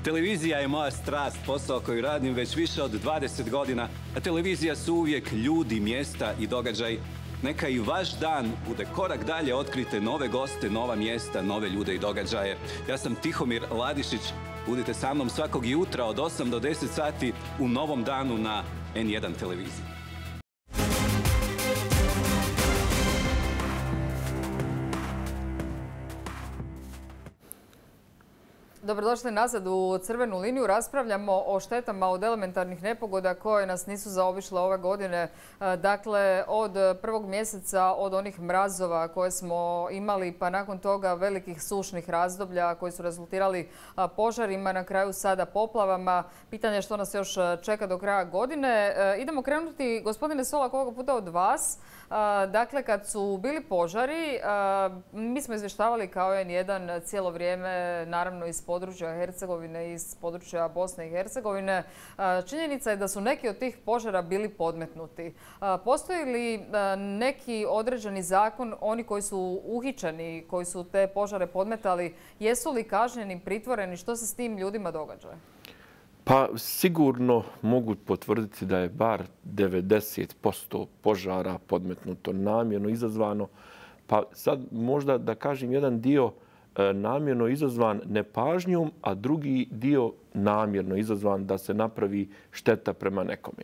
Televizija je moja strast, posao koji radim već više od dvadeset godina, a televizija su uvijek ljudi, mjesta i događaj. Neka i vaš dan bude korak dalje, otkrite nove goste, nova mjesta, nove ljude i događaje. Ja sam Tihomir Ladišić, budite sa mnom svakog jutra od osam do deset sati u Novom danu na en jedan televiziji. Dobrodošli nazad u Crvenu liniju. Raspravljamo o štetama od elementarnih nepogoda koje nas nisu zaobišle ove godine. Dakle, od prvog mjeseca, od onih mrazova koje smo imali, pa nakon toga velikih sušnih razdoblja koji su rezultirali požarima, na kraju sada poplavama. Pitanje je što nas još čeka do kraja godine. Idemo krenuti, gospodine Solak, ovoga puta od vas. Dakle, kad su bili požari, mi smo izvještavali kao en jedan cijelo vrijeme, naravno iz područja Hercegovine, iz područja Bosne i Hercegovine. Činjenica je da su neki od tih požara bili podmetnuti. Postoji li neki određeni zakon, oni koji su uhićeni, koji su te požare podmetali, jesu li kažnjeni, pritvoreni, što se s tim ljudima događa? Pa sigurno mogu potvrditi da je bar devedeset posto požara podmetnuto, namjerno izazvano. Pa sad možda da kažem jedan dio namjerno izazvan nepažnjom, a drugi dio namjerno izazvan da se napravi šteta prema nekome.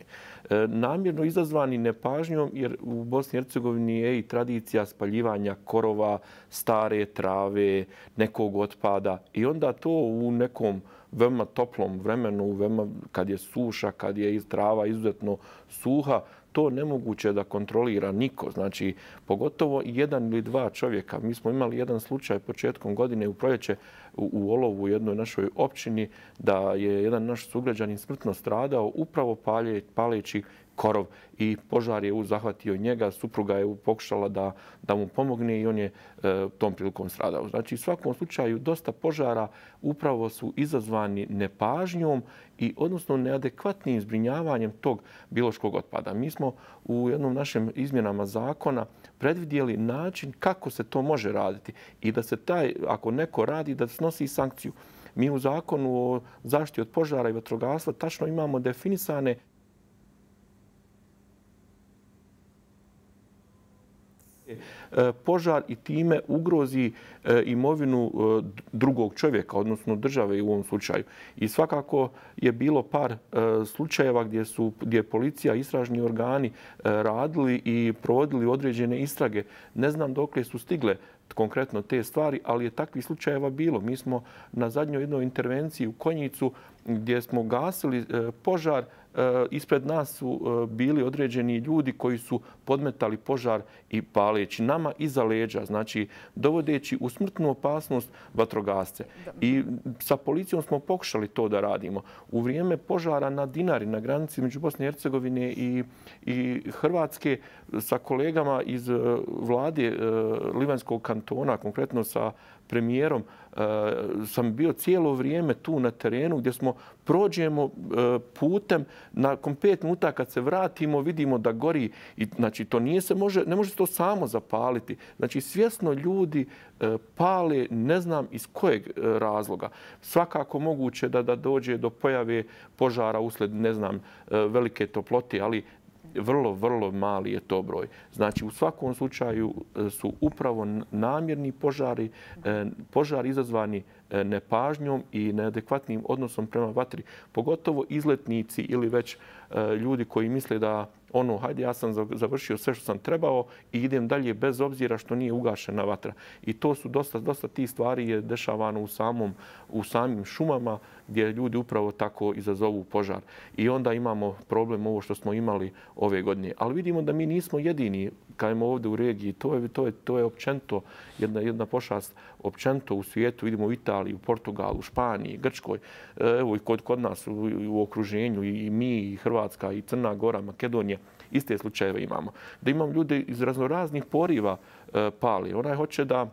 Namjerno izazvani nepažnjom jer u Bosni i Hercegovini je i tradicija spaljivanja korova, stare trave, nekog otpada i onda to u nekom veoma toplom vremenu, veoma, kad je suša, kad je trava izuzetno suha, to nemoguće da kontrolira niko. Znači, pogotovo jedan ili dva čovjeka. Mi smo imali jedan slučaj početkom godine u proljeće u Olovu, u jednoj našoj općini, da je jedan naš sugrađanin smrtno stradao upravo paleći korov i požar je zahvatio njega. Supruga je pokušala da, da mu pomogne i on je e, tom prilikom stradao. Znači, u svakom slučaju dosta požara upravo su izazvani nepažnjom i odnosno neadekvatnim zbrinjavanjem tog biološkog otpada. Mi smo u jednom našem izmjenama zakona predvidjeli način kako se to može raditi i da se taj, ako neko radi, da snosi sankciju. Mi u zakonu o zaštiti od požara i vatrogastva tačno imamo definisane požar i time ugrozi imovinu drugog čovjeka, odnosno države u ovom slučaju. I svakako je bilo par slučajeva gdje su gdje policija, istražni organi radili i provodili određene istrage. Ne znam dokle su stigle konkretno te stvari, ali je takvih slučajeva bilo. Mi smo na zadnjoj jednoj intervenciji u Konjicu gdje smo gasili požar, ispred nas su bili određeni ljudi koji su podmetali požar i paleći nama iza leđa, znači dovodeći u smrtnu opasnost vatrogasce. I sa policijom smo pokušali to da radimo. U vrijeme požara na Dinari, na granici među Bosne i Hercegovine i, i Hrvatske, sa kolegama iz vlade Livanjskog kantona, konkretno sa premijerom, sam bio cijelo vrijeme tu na terenu gdje smo prođemo putem, nakon pet minuta kad se vratimo vidimo da gori. I, znači, to nije se može, ne može se to samo zapaliti. Znači, svjesno ljudi pale, ne znam iz kojeg razloga. Svakako moguće da, da dođe do pojave požara usled, ne znam, velike toplote, ali vrlo, vrlo mali je to broj. Znači, u svakom slučaju su upravo namjerni požari, požari izazvani nepažnjom i neadekvatnim odnosom prema vatri. Pogotovo izletnici ili već ljudi koji misle da ono, hajde, ja sam završio sve što sam trebao i idem dalje bez obzira što nije ugašena vatra. I to su dosta, dosta tih stvari je dešavano u, samom, u samim šumama gdje ljudi upravo tako izazovu požar. I onda imamo problem ovo što smo imali ove godine. Ali vidimo da mi nismo jedini kajmo ovdje u regiji. To je, to je, to je općento jedna, jedna pošast općento u svijetu. Vidimo u Italiji, u Portugalu, u Španiji, Grčkoj. Evo i kod, kod nas u, u okruženju i mi, i Hrvatska, i Crna Gora, Makedonija. Iste slučajeve imamo. Da imam ljude iz raznoraznih poriva e, pali. Onaj hoće da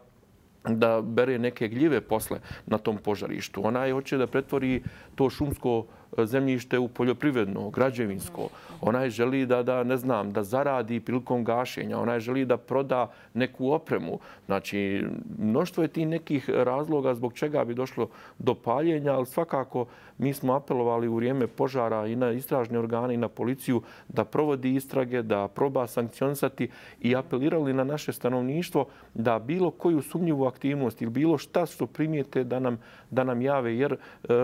da bere neke gljive posle na tom požarištu. Onaj hoće da pretvori to šumsko zemljište u poljoprivredno, građevinsko. Onaj želi da, da, ne znam, da zaradi prilikom gašenja. Onaj želi da proda neku opremu. Znači, mnoštvo je ti nekih razloga zbog čega bi došlo do paljenja, ali svakako mi smo apelovali u vrijeme požara i na istražne organe i na policiju da provodi istrage, da proba sankcionisati i apelirali na naše stanovništvo da bilo koju sumnjivu aktivnost ili bilo šta što primijete da nam, da nam jave. Jer e,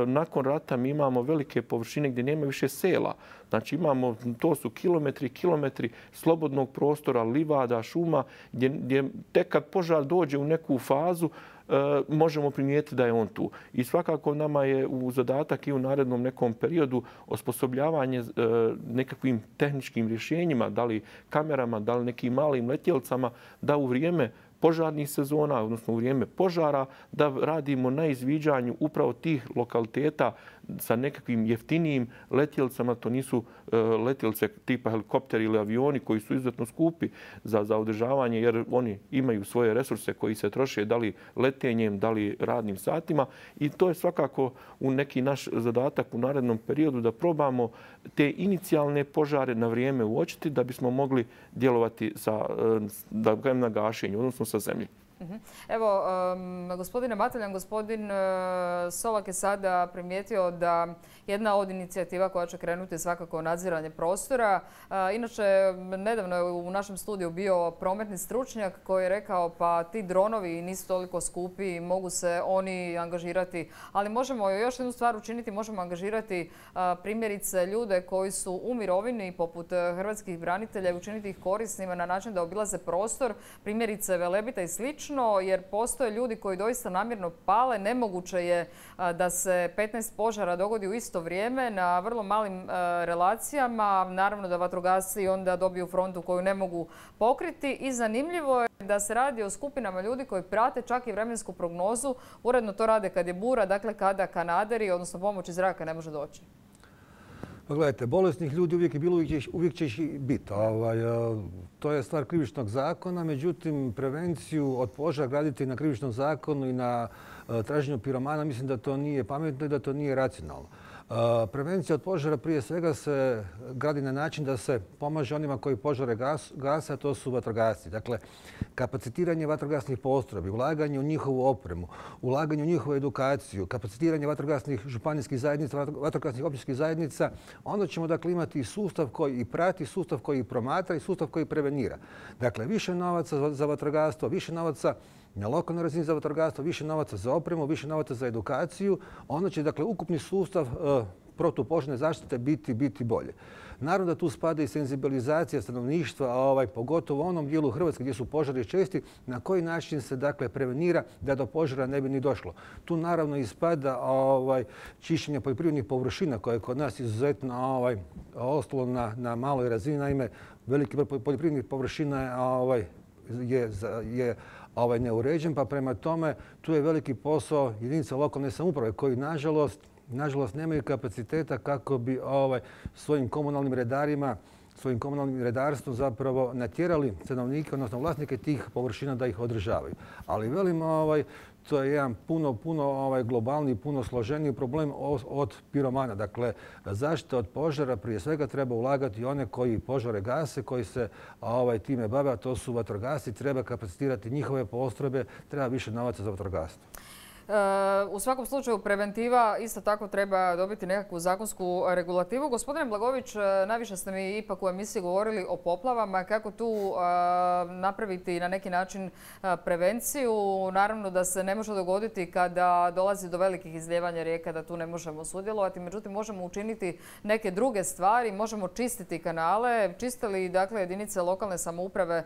nakon rata mi imamo velike površine gdje nema više sela. Znači imamo, to su kilometri i kilometri slobodnog prostora, livada, šuma, gdje, gdje tek kad požar dođe u neku fazu, e, možemo primijetiti da je on tu. I svakako nama je u zadatak i u narednom nekom periodu osposobljavanje e, nekakvim tehničkim rješenjima, da li kamerama, da li nekim malim letjelcama, da u vrijeme požarnih sezona, odnosno u vrijeme požara, da radimo na izviđanju upravo tih lokaliteta sa nekakvim jeftinijim letjelcama. To nisu letjelce tipa helikopteri ili avioni koji su izuzetno skupi za, za održavanje, jer oni imaju svoje resurse koji se troše da li letenjem, da li radnim satima. I to je svakako u neki naš zadatak u narednom periodu da probamo te inicijalne požare na vrijeme uočiti da bismo mogli djelovati sa, da gajem na gašenju, odnosno sa zemlji. Evo, um, gospodine Mateljan, gospodin uh, Solak je sada primijetio da jedna od inicijativa koja će krenuti je svakako nadziranje prostora. Uh, inače, nedavno je u našem studiju bio prometni stručnjak koji je rekao pa ti dronovi nisu toliko skupi i mogu se oni angažirati. Ali možemo još jednu stvar učiniti, možemo angažirati uh, primjerice ljude koji su u mirovini poput hrvatskih branitelja i učiniti ih korisnima na način da obilaze prostor, primjerice Velebita i slično. ključno jer postoje ljudi koji doista namjerno pale. Nemoguće je da se petnaest požara dogodi u isto vrijeme na vrlo malim relacijama. Naravno da vatrogasci onda dobiju frontu koju ne mogu pokriti i zanimljivo je da se radi o skupinama ljudi koji prate čak i vremensku prognozu. Uredno to rade kad je bura, dakle kada kanaderi, odnosno pomoć iz zraka ne može doći. Pa gledajte, bolesnih ljudi uvijek je bilo, uvijek će ih biti. Ovaj, to je stvar krivičnog zakona, međutim prevenciju od požara graditi na krivičnom zakonu i na traženju piromana, mislim da to nije pametno i da to nije racionalno. Prevencija od požara prije svega se gradi na način da se pomaže onima koji požare gase, a to su vatrogasci. Dakle, kapacitiranje vatrogasnih postrojbi, ulaganje u njihovu opremu, ulaganje u njihovu edukaciju, kapacitiranje vatrogasnih županijskih zajednica, vatrogasnih općinskih zajednica, onda ćemo dakle imati sustav koji i prati, sustav koji promatra i sustav koji prevenira. Dakle, više novaca za vatrogastvo, više novaca na lokalnoj razini za vatrogastvo, više novaca za opremu, više novaca za edukaciju, onda će dakle ukupni sustav e, protupožarne zaštite biti biti bolje. Naravno da tu spada i senzibilizacija stanovništva, ovaj, pogotovo u onom dijelu Hrvatske gdje su požari česti, na koji način se dakle prevenira da do požara ne bi ni došlo. Tu naravno ispada ovaj, čišćenje poljoprivrednih površina koje je kod nas izuzetno ovaj, ostalo na, na maloj razini. Naime, veliki broj poljoprivrednih površina je, ovaj, je, je ovaj, neuređen, pa prema tome tu je veliki posao jedinica lokalne samouprave koji nažalost nažalost nemaju kapaciteta kako bi ovaj, svojim komunalnim redarima, svojim komunalnim redarstvom zapravo natjerali stanovnike, odnosno vlasnike tih površina da ih održavaju. Ali velim, ovaj, to je jedan puno, puno ovaj, globalni, puno složeniji problem od piromana. Dakle, zaštita od požara prije svega treba ulagati one koji požare gase, koji se ovaj, time bave, a to su vatrogasci. Treba kapacitirati njihove postrojbe, treba više novaca za vatrogastvo. U svakom slučaju preventiva isto tako treba dobiti nekakvu zakonsku regulativu. Gospodine Blagović, najviše ste mi ipak u emisiji govorili o poplavama. Kako tu napraviti na neki način prevenciju? Naravno da se ne može dogoditi kada dolazi do velikih izljevanja rijeka, da tu ne možemo sudjelovati. Međutim, možemo učiniti neke druge stvari. Možemo čistiti kanale. Čiste li dakle, jedinice lokalne samouprave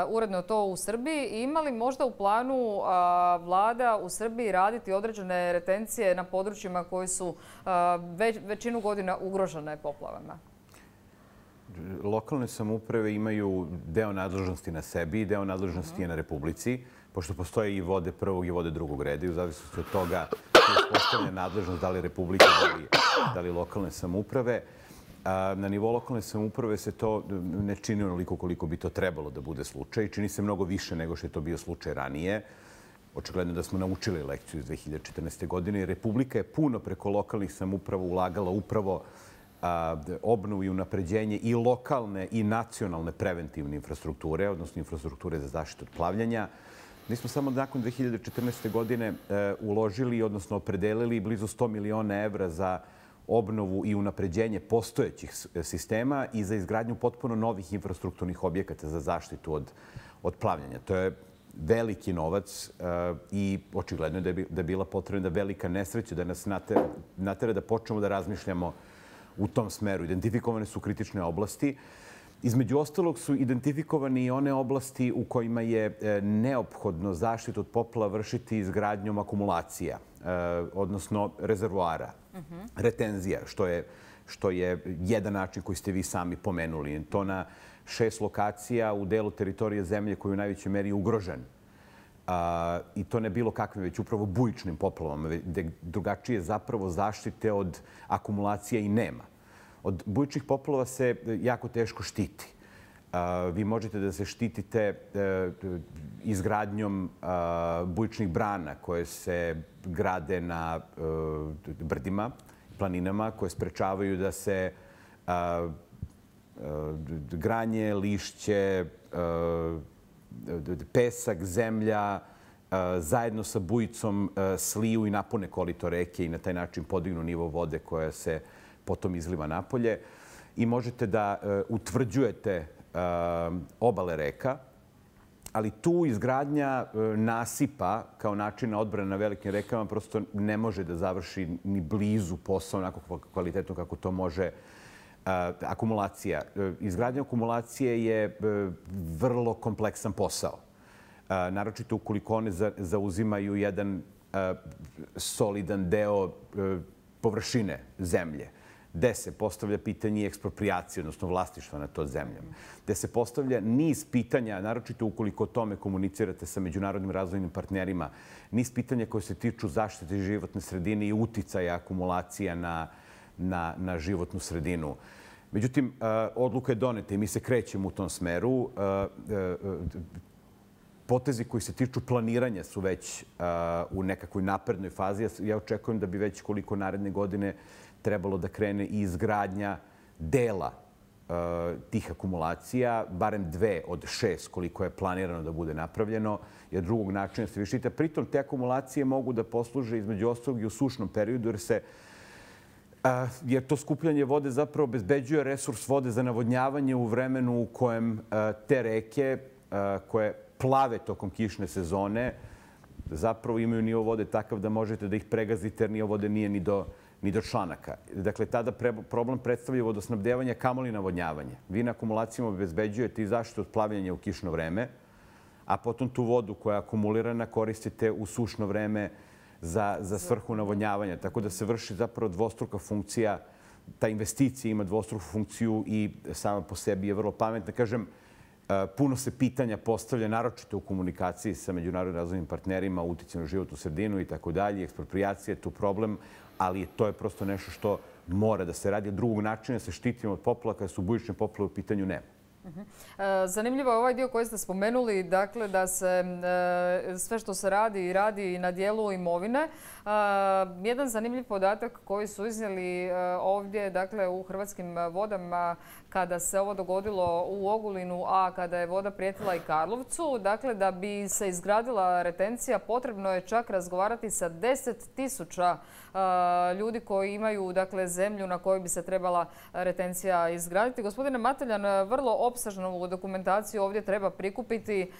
uredno to u Srbiji? I ima li možda u planu vlada u Srbiji raditi određene retencije na područjima koji su već, većinu godina ugrožene poplavama? Lokalne samouprave imaju deo nadležnosti na sebi i deo nadležnosti je na Republici, pošto postoje i vode prvog i vode drugog reda i u zavisnosti od toga je postavljena nadležnost da li Republike, da li, da li lokalne samouprave. Na nivou lokalne samouprave se to ne čini onoliko koliko bi to trebalo da bude slučaj. Čini se mnogo više nego što je to bio slučaj ranije. Očigledno da smo naučili lekciju iz dve hiljade četrnaeste. godine. Republika je puno preko lokalnih samouprava ulagala upravo a, obnovu i unapređenje i lokalne i nacionalne preventivne infrastrukture, odnosno infrastrukture za zaštitu od plavljanja. Mi smo samo nakon dve hiljade četrnaeste. godine e, uložili, odnosno opredelili blizu sto miliona evra za obnovu i unapređenje postojećih sistema i za izgradnju potpuno novih infrastrukturnih objekata za zaštitu od, od plavljanja. To je veliki novac uh, i očigledno je da je, da je bila potrebna velika nesreća da nas natera, natera da počnemo da razmišljamo u tom smeru. Identifikovane su kritične oblasti. Između ostalog su identifikovani i one oblasti u kojima je e, neophodno zaštitu od poplava vršiti izgradnjom akumulacija, e, odnosno rezervoara, uh-huh. retenzija, što je, što je jedan način koji ste vi sami pomenuli. To na šest lokacija u delu teritorije zemlje koji je u najvećoj meri ugrožen. A, I to ne bilo kakvim, već upravo bujičnim poplavama, gde drugačije zapravo zaštite od akumulacija i nema. Od bujičnih poplava se jako teško štiti. A, vi možete da se štitite e, izgradnjom a, bujičnih brana koje se grade na e, brdima, planinama, koje sprečavaju da se a, granje, lišće, pesak, zemlja zajedno sa bujicom sliju i napune korito reke i na taj način podignu nivo vode koja se potom izliva napolje. I možete da utvrđujete obale reka, ali tu izgradnja nasipa kao načina odbrane na velikim rekama prosto ne može da završi ni blizu posao onako kvalitetno kako to može akumulacija. Izgradnja akumulacije je vrlo kompleksan posao. naročito ukoliko one zauzimaju jedan solidan deo površine zemlje, gde se postavlja pitanje ekspropriacije, odnosno vlasništva nad to zemljom, gde se postavlja niz pitanja, naročito ukoliko o tome komunicirate sa međunarodnim razvojnim partnerima, niz pitanja koje se tiču zaštite životne sredine i uticaja akumulacija na, na, na životnu sredinu. Međutim, odluka je doneta i mi se krećemo u tom smeru. Potezi koji se tiču planiranja su već u nekakvoj naprednoj fazi. Ja očekujem da bi već koliko naredne godine trebalo da krene i izgradnja dela tih akumulacija, barem dve od šest koliko je planirano da bude napravljeno, jer drugog načina se višite. Pritom te akumulacije mogu da posluže između ostalog i u sušnom periodu, jer se jer to skupljanje vode zapravo obezbeđuje resurs vode za navodnjavanje u vremenu u kojem te reke koje plave tokom kišne sezone zapravo imaju nivo vode takav da možete da ih pregazite jer nivo vode nije ni do, ni do članaka. Dakle, tada problem predstavlja vodosnabdevanje, kamoli navodnjavanje. Vi na akumulacijama obezbeđujete i zaštitu od plavljenja u kišno vreme, a potom tu vodu koja je akumulirana koristite u sušno vreme za, za svrhu navodnjavanja. Tako da se vrši zapravo dvostruka funkcija. Ta investicija ima dvostruku funkciju i sama po sebi je vrlo pametna. Kažem, puno se pitanja postavlja, naročito u komunikaciji sa međunarodnim razvojnim partnerima, uticaj na životnu sredinu i tako dalje. Ekspropriacija je tu problem, ali to je prosto nešto što mora da se radi. Drugog načina se štitimo od poplava kada su bujične poplave u pitanju nema. Zanimljivo je ovaj dio koji ste spomenuli, dakle da se sve što se radi i radi na dijelu imovine. Jedan zanimljiv podatak koji su iznijeli ovdje, dakle u Hrvatskim vodama kada se ovo dogodilo u Ogulinu, a kada je voda prijetila i Karlovcu, dakle da bi se izgradila retencija potrebno je čak razgovarati sa deset tisuća ljudi koji imaju dakle zemlju na kojoj bi se trebala retencija izgraditi. Gospodine Mateljan, vrlo opsežnu dokumentaciju ovdje treba prikupiti.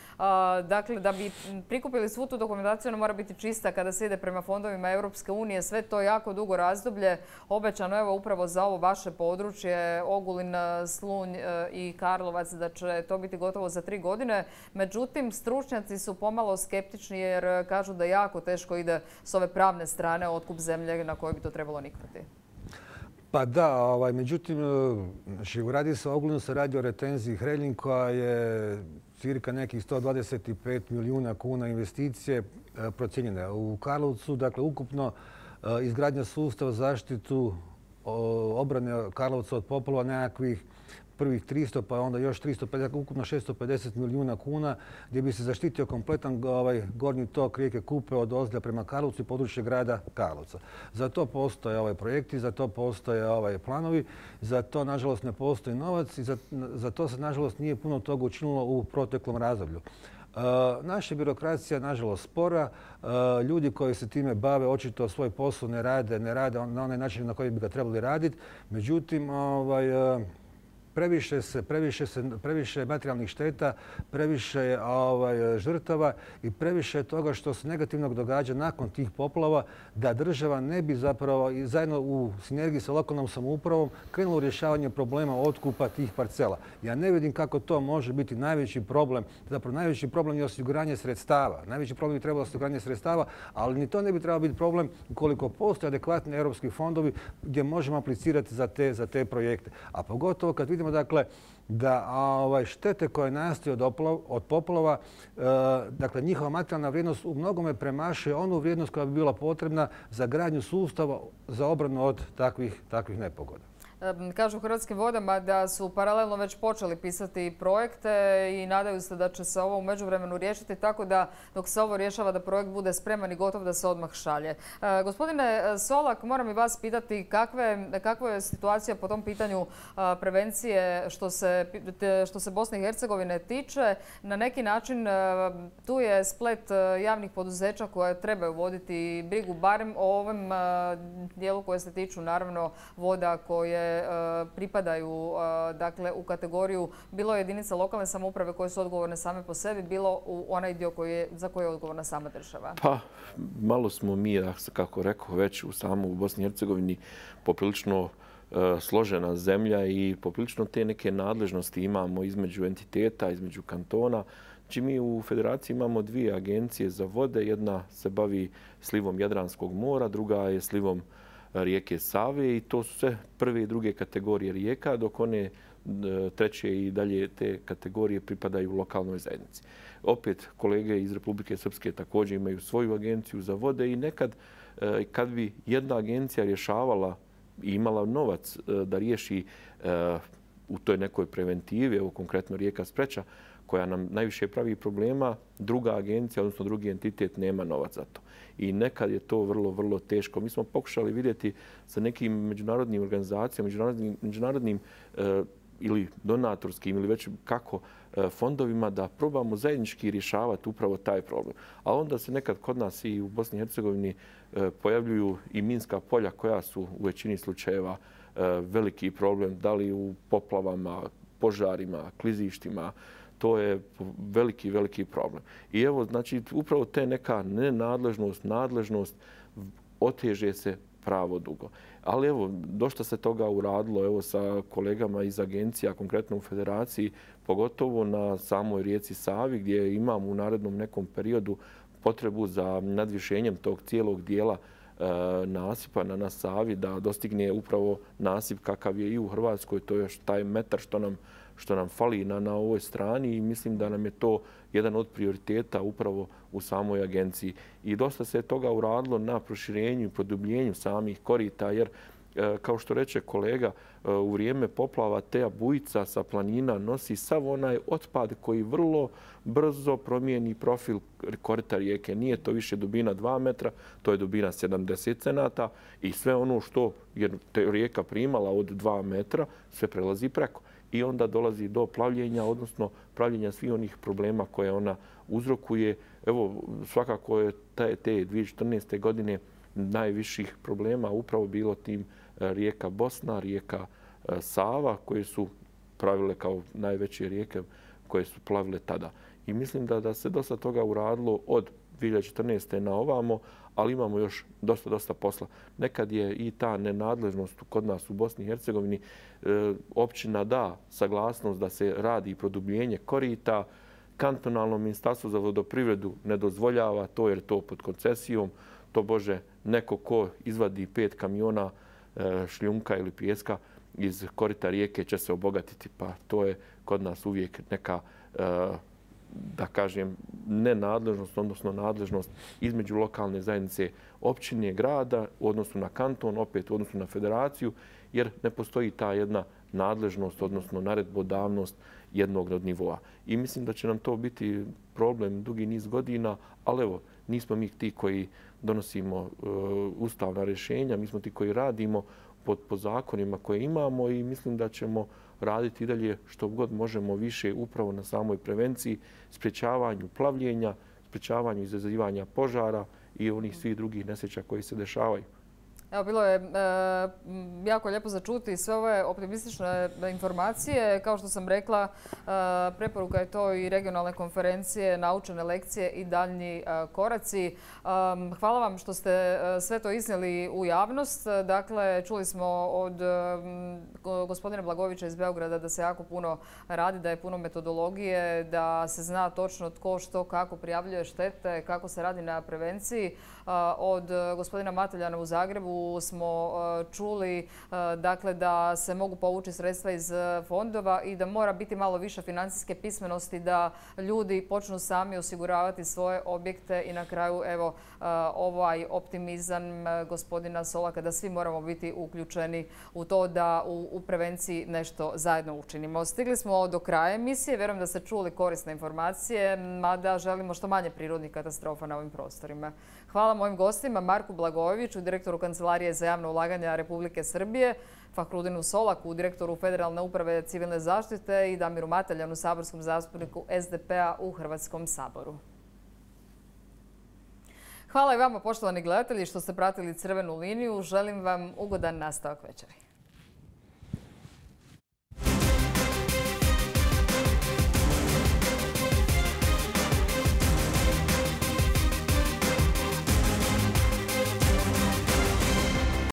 Dakle, da bi prikupili svu tu dokumentaciju, ona mora biti čista kada se ide prema fondovima Europske unije. Sve to jako dugo razdoblje. Obećano evo upravo za ovo vaše područje, Ogulin, Slunj i Karlovac, da će to biti gotovo za tri godine. Međutim, stručnjaci su pomalo skeptični jer kažu da jako teško ide s ove pravne strane otkup zemlje na kojoj bi to trebalo niknuti. Pa da, ovaj, međutim, znači, radi se o Ogulinu, se radi o retenziji Hreljin koja je cirka nekih sto dvadeset pet milijuna kuna investicije procijenjene. U Karlovcu, dakle, ukupno izgradnja sustava zaštitu obrane Karlovca od poplava nekakvih prvih tristo, pa onda još tristo pedeset, ukupno šesto pedeset milijuna kuna, gdje bi se zaštitio kompletan ovaj, gornji tok rijeke Kupe od Ozlja prema Karlovcu i područje grada Karlovca. Za to postoje ovaj projekti, za to postoje ovaj planovi, za to nažalost ne postoji novac i za, za to se nažalost nije puno toga učinilo u proteklom razdoblju. Uh, naša birokracija, nažalost, spora. Uh, ljudi koji se time bave očito svoj posao ne rade, ne rade na onaj način na koji bi ga trebali raditi. Međutim, ovaj, uh, Previše se, previše se, previše materijalnih šteta, previše ovaj, žrtava i previše toga što se negativnog događa nakon tih poplava, da država ne bi zapravo i zajedno u sinergiji sa lokalnom samoupravom krenula u rješavanje problema otkupa tih parcela. Ja ne vidim kako to može biti najveći problem. Zapravo najveći problem je osiguranje sredstava. Najveći problem bi trebalo osiguranje sredstava, ali ni to ne bi trebalo biti problem ukoliko postoje adekvatni europski fondovi gdje možemo aplicirati za te, za te projekte. A pogotovo kad vidimo dakle da ovaj, štete koje nastaju od, od poplava, e, dakle njihova materijalna vrijednost u mnogome premašuje onu vrijednost koja bi bila potrebna za gradnju sustava za obranu od takvih, takvih nepogoda. Kažu u Hrvatskim vodama da su paralelno već počeli pisati projekte i nadaju se da će se ovo u međuvremenu riješiti, tako da dok se ovo rješava da projekt bude spreman i gotov da se odmah šalje. Gospodine Solak, moram i vas pitati kakve, kakva je situacija po tom pitanju prevencije što se, što se Bosne i Hercegovine tiče. Na neki način tu je splet javnih poduzeća koje trebaju voditi brigu barem o ovom dijelu koje se tiču naravno voda koje pripadaju dakle, u kategoriju bilo jedinica lokalne samouprave koje su odgovorne same po sebi, bilo u onaj dio koji je, za koji je odgovorna sama država? Pa, malo smo mi, kako rekao, već u samu u Bosni i Hercegovini poprilično složena zemlja i poprilično te neke nadležnosti imamo između entiteta, između kantona. Znači, mi u Federaciji imamo dvije agencije za vode. Jedna se bavi slivom Jadranskog mora, druga je slivom rijeke Save i to su sve prve i druge kategorije rijeka, dok one treće i dalje te kategorije pripadaju lokalnoj zajednici. Opet, kolege iz Republike Srpske također imaju svoju agenciju za vode i nekad kad bi jedna agencija rješavala i imala novac da riješi u toj nekoj preventivi, evo konkretno rijeka Spreča, koja nam najviše pravi problema, druga agencija, odnosno drugi entitet, nema novac za to. I nekad je to vrlo, vrlo teško. Mi smo pokušali vidjeti sa nekim međunarodnim organizacijama, međunarodnim, međunarodnim e, ili donatorskim ili već kako e, fondovima da probamo zajednički rješavati upravo taj problem. A onda se nekad kod nas i u Bosni i Hercegovini e, pojavljuju i minska polja koja su u većini slučajeva e, veliki problem, da li u poplavama, požarima, klizištima. To je veliki, veliki problem. I evo, znači, upravo te neka nenadležnost, nadležnost oteže se pravo dugo. Ali evo, dosta se toga uradilo evo, sa kolegama iz agencija, konkretno u Federaciji, pogotovo na samoj rijeci Savi, gdje imamo u narednom nekom periodu potrebu za nadvišenjem tog cijelog dijela e, nasipa na, na Savi, da dostigne upravo nasip kakav je i u Hrvatskoj. To je još taj metar što nam što nam fali na, na ovoj strani i mislim da nam je to jedan od prioriteta upravo u samoj agenciji. I dosta se toga uradilo na proširenju i produbljenju samih korita, jer e, kao što reče kolega, e, u vrijeme poplava te bujica sa planina nosi sav onaj otpad koji vrlo brzo promijeni profil korita rijeke. Nije to više dubina dva metra, to je dubina sedamdeset cenata i sve ono što je rijeka primala od dva metra, sve prelazi preko. I onda dolazi do plavljenja, odnosno pravljenja svih onih problema koje ona uzrokuje. Evo, svakako je te, te dvije tisuće četrnaeste. godine najviših problema upravo bilo tim rijeka Bosna, rijeka Sava, koje su pravile kao najveće rijeke koje su plavile tada. I mislim da, da se dosta toga uradilo od dvije tisuće četrnaeste. na ovamo, ali imamo još dosta, dosta posla. Nekad je i ta nenadležnost kod nas u Bosni i Hercegovini. E, općina da saglasnost da se radi produbljenje korita, kantonalno ministarstvo za vodoprivredu ne dozvoljava to jer to pod koncesijom. To bože, neko ko izvadi pet kamiona e, šljunka ili pijeska iz korita rijeke će se obogatiti. Pa to je kod nas uvijek neka e, da kažem, nenadležnost, odnosno nadležnost između lokalne zajednice općine, grada, u odnosu na kanton, opet u odnosu na federaciju, jer ne postoji ta jedna nadležnost, odnosno naredbodavnost jednog od nivoa. I mislim da će nam to biti problem dugi niz godina, ali evo, nismo mi ti koji donosimo uh, ustavna rješenja, mi smo ti koji radimo pod, po zakonima koje imamo i mislim da ćemo raditi i dalje što god možemo više upravo na samoj prevenciji, sprječavanju plavljenja, sprječavanju izazivanja požara i onih svih drugih nesreća koji se dešavaju. Evo, bilo je e, jako lijepo začuti sve ove optimistične informacije. Kao što sam rekla, e, preporuka je to i regionalne konferencije, naučene lekcije i daljnji e, koraci. E, hvala vam što ste e, sve to iznijeli u javnost. Dakle, čuli smo od e, gospodina Blagovića iz Beograda da se jako puno radi, da je puno metodologije, da se zna točno tko što kako prijavljuje štete, kako se radi na prevenciji. E, od gospodina Mateljana u Zagrebu smo čuli dakle, da se mogu povući sredstva iz fondova i da mora biti malo više financijske pismenosti da ljudi počnu sami osiguravati svoje objekte i na kraju evo ovaj optimizam gospodina Solaka da svi moramo biti uključeni u to da u, u prevenciji nešto zajedno učinimo. Stigli smo do kraja emisije. Vjerujem da ste čuli korisne informacije, mada želimo što manje prirodnih katastrofa na ovim prostorima. Hvala mojim gostima, Marku Blagojeviću, direktoru Kancelarije za javno ulaganja Republike Srbije, Fahrudinu Solaku, direktoru Federalne uprave civilne zaštite i Damiru Mateljanu, saborskom zastupniku S D P-a u Hrvatskom saboru. Hvala i vama, poštovani gledatelji, što ste pratili Crvenu liniju. Želim vam ugodan nastavak večeri.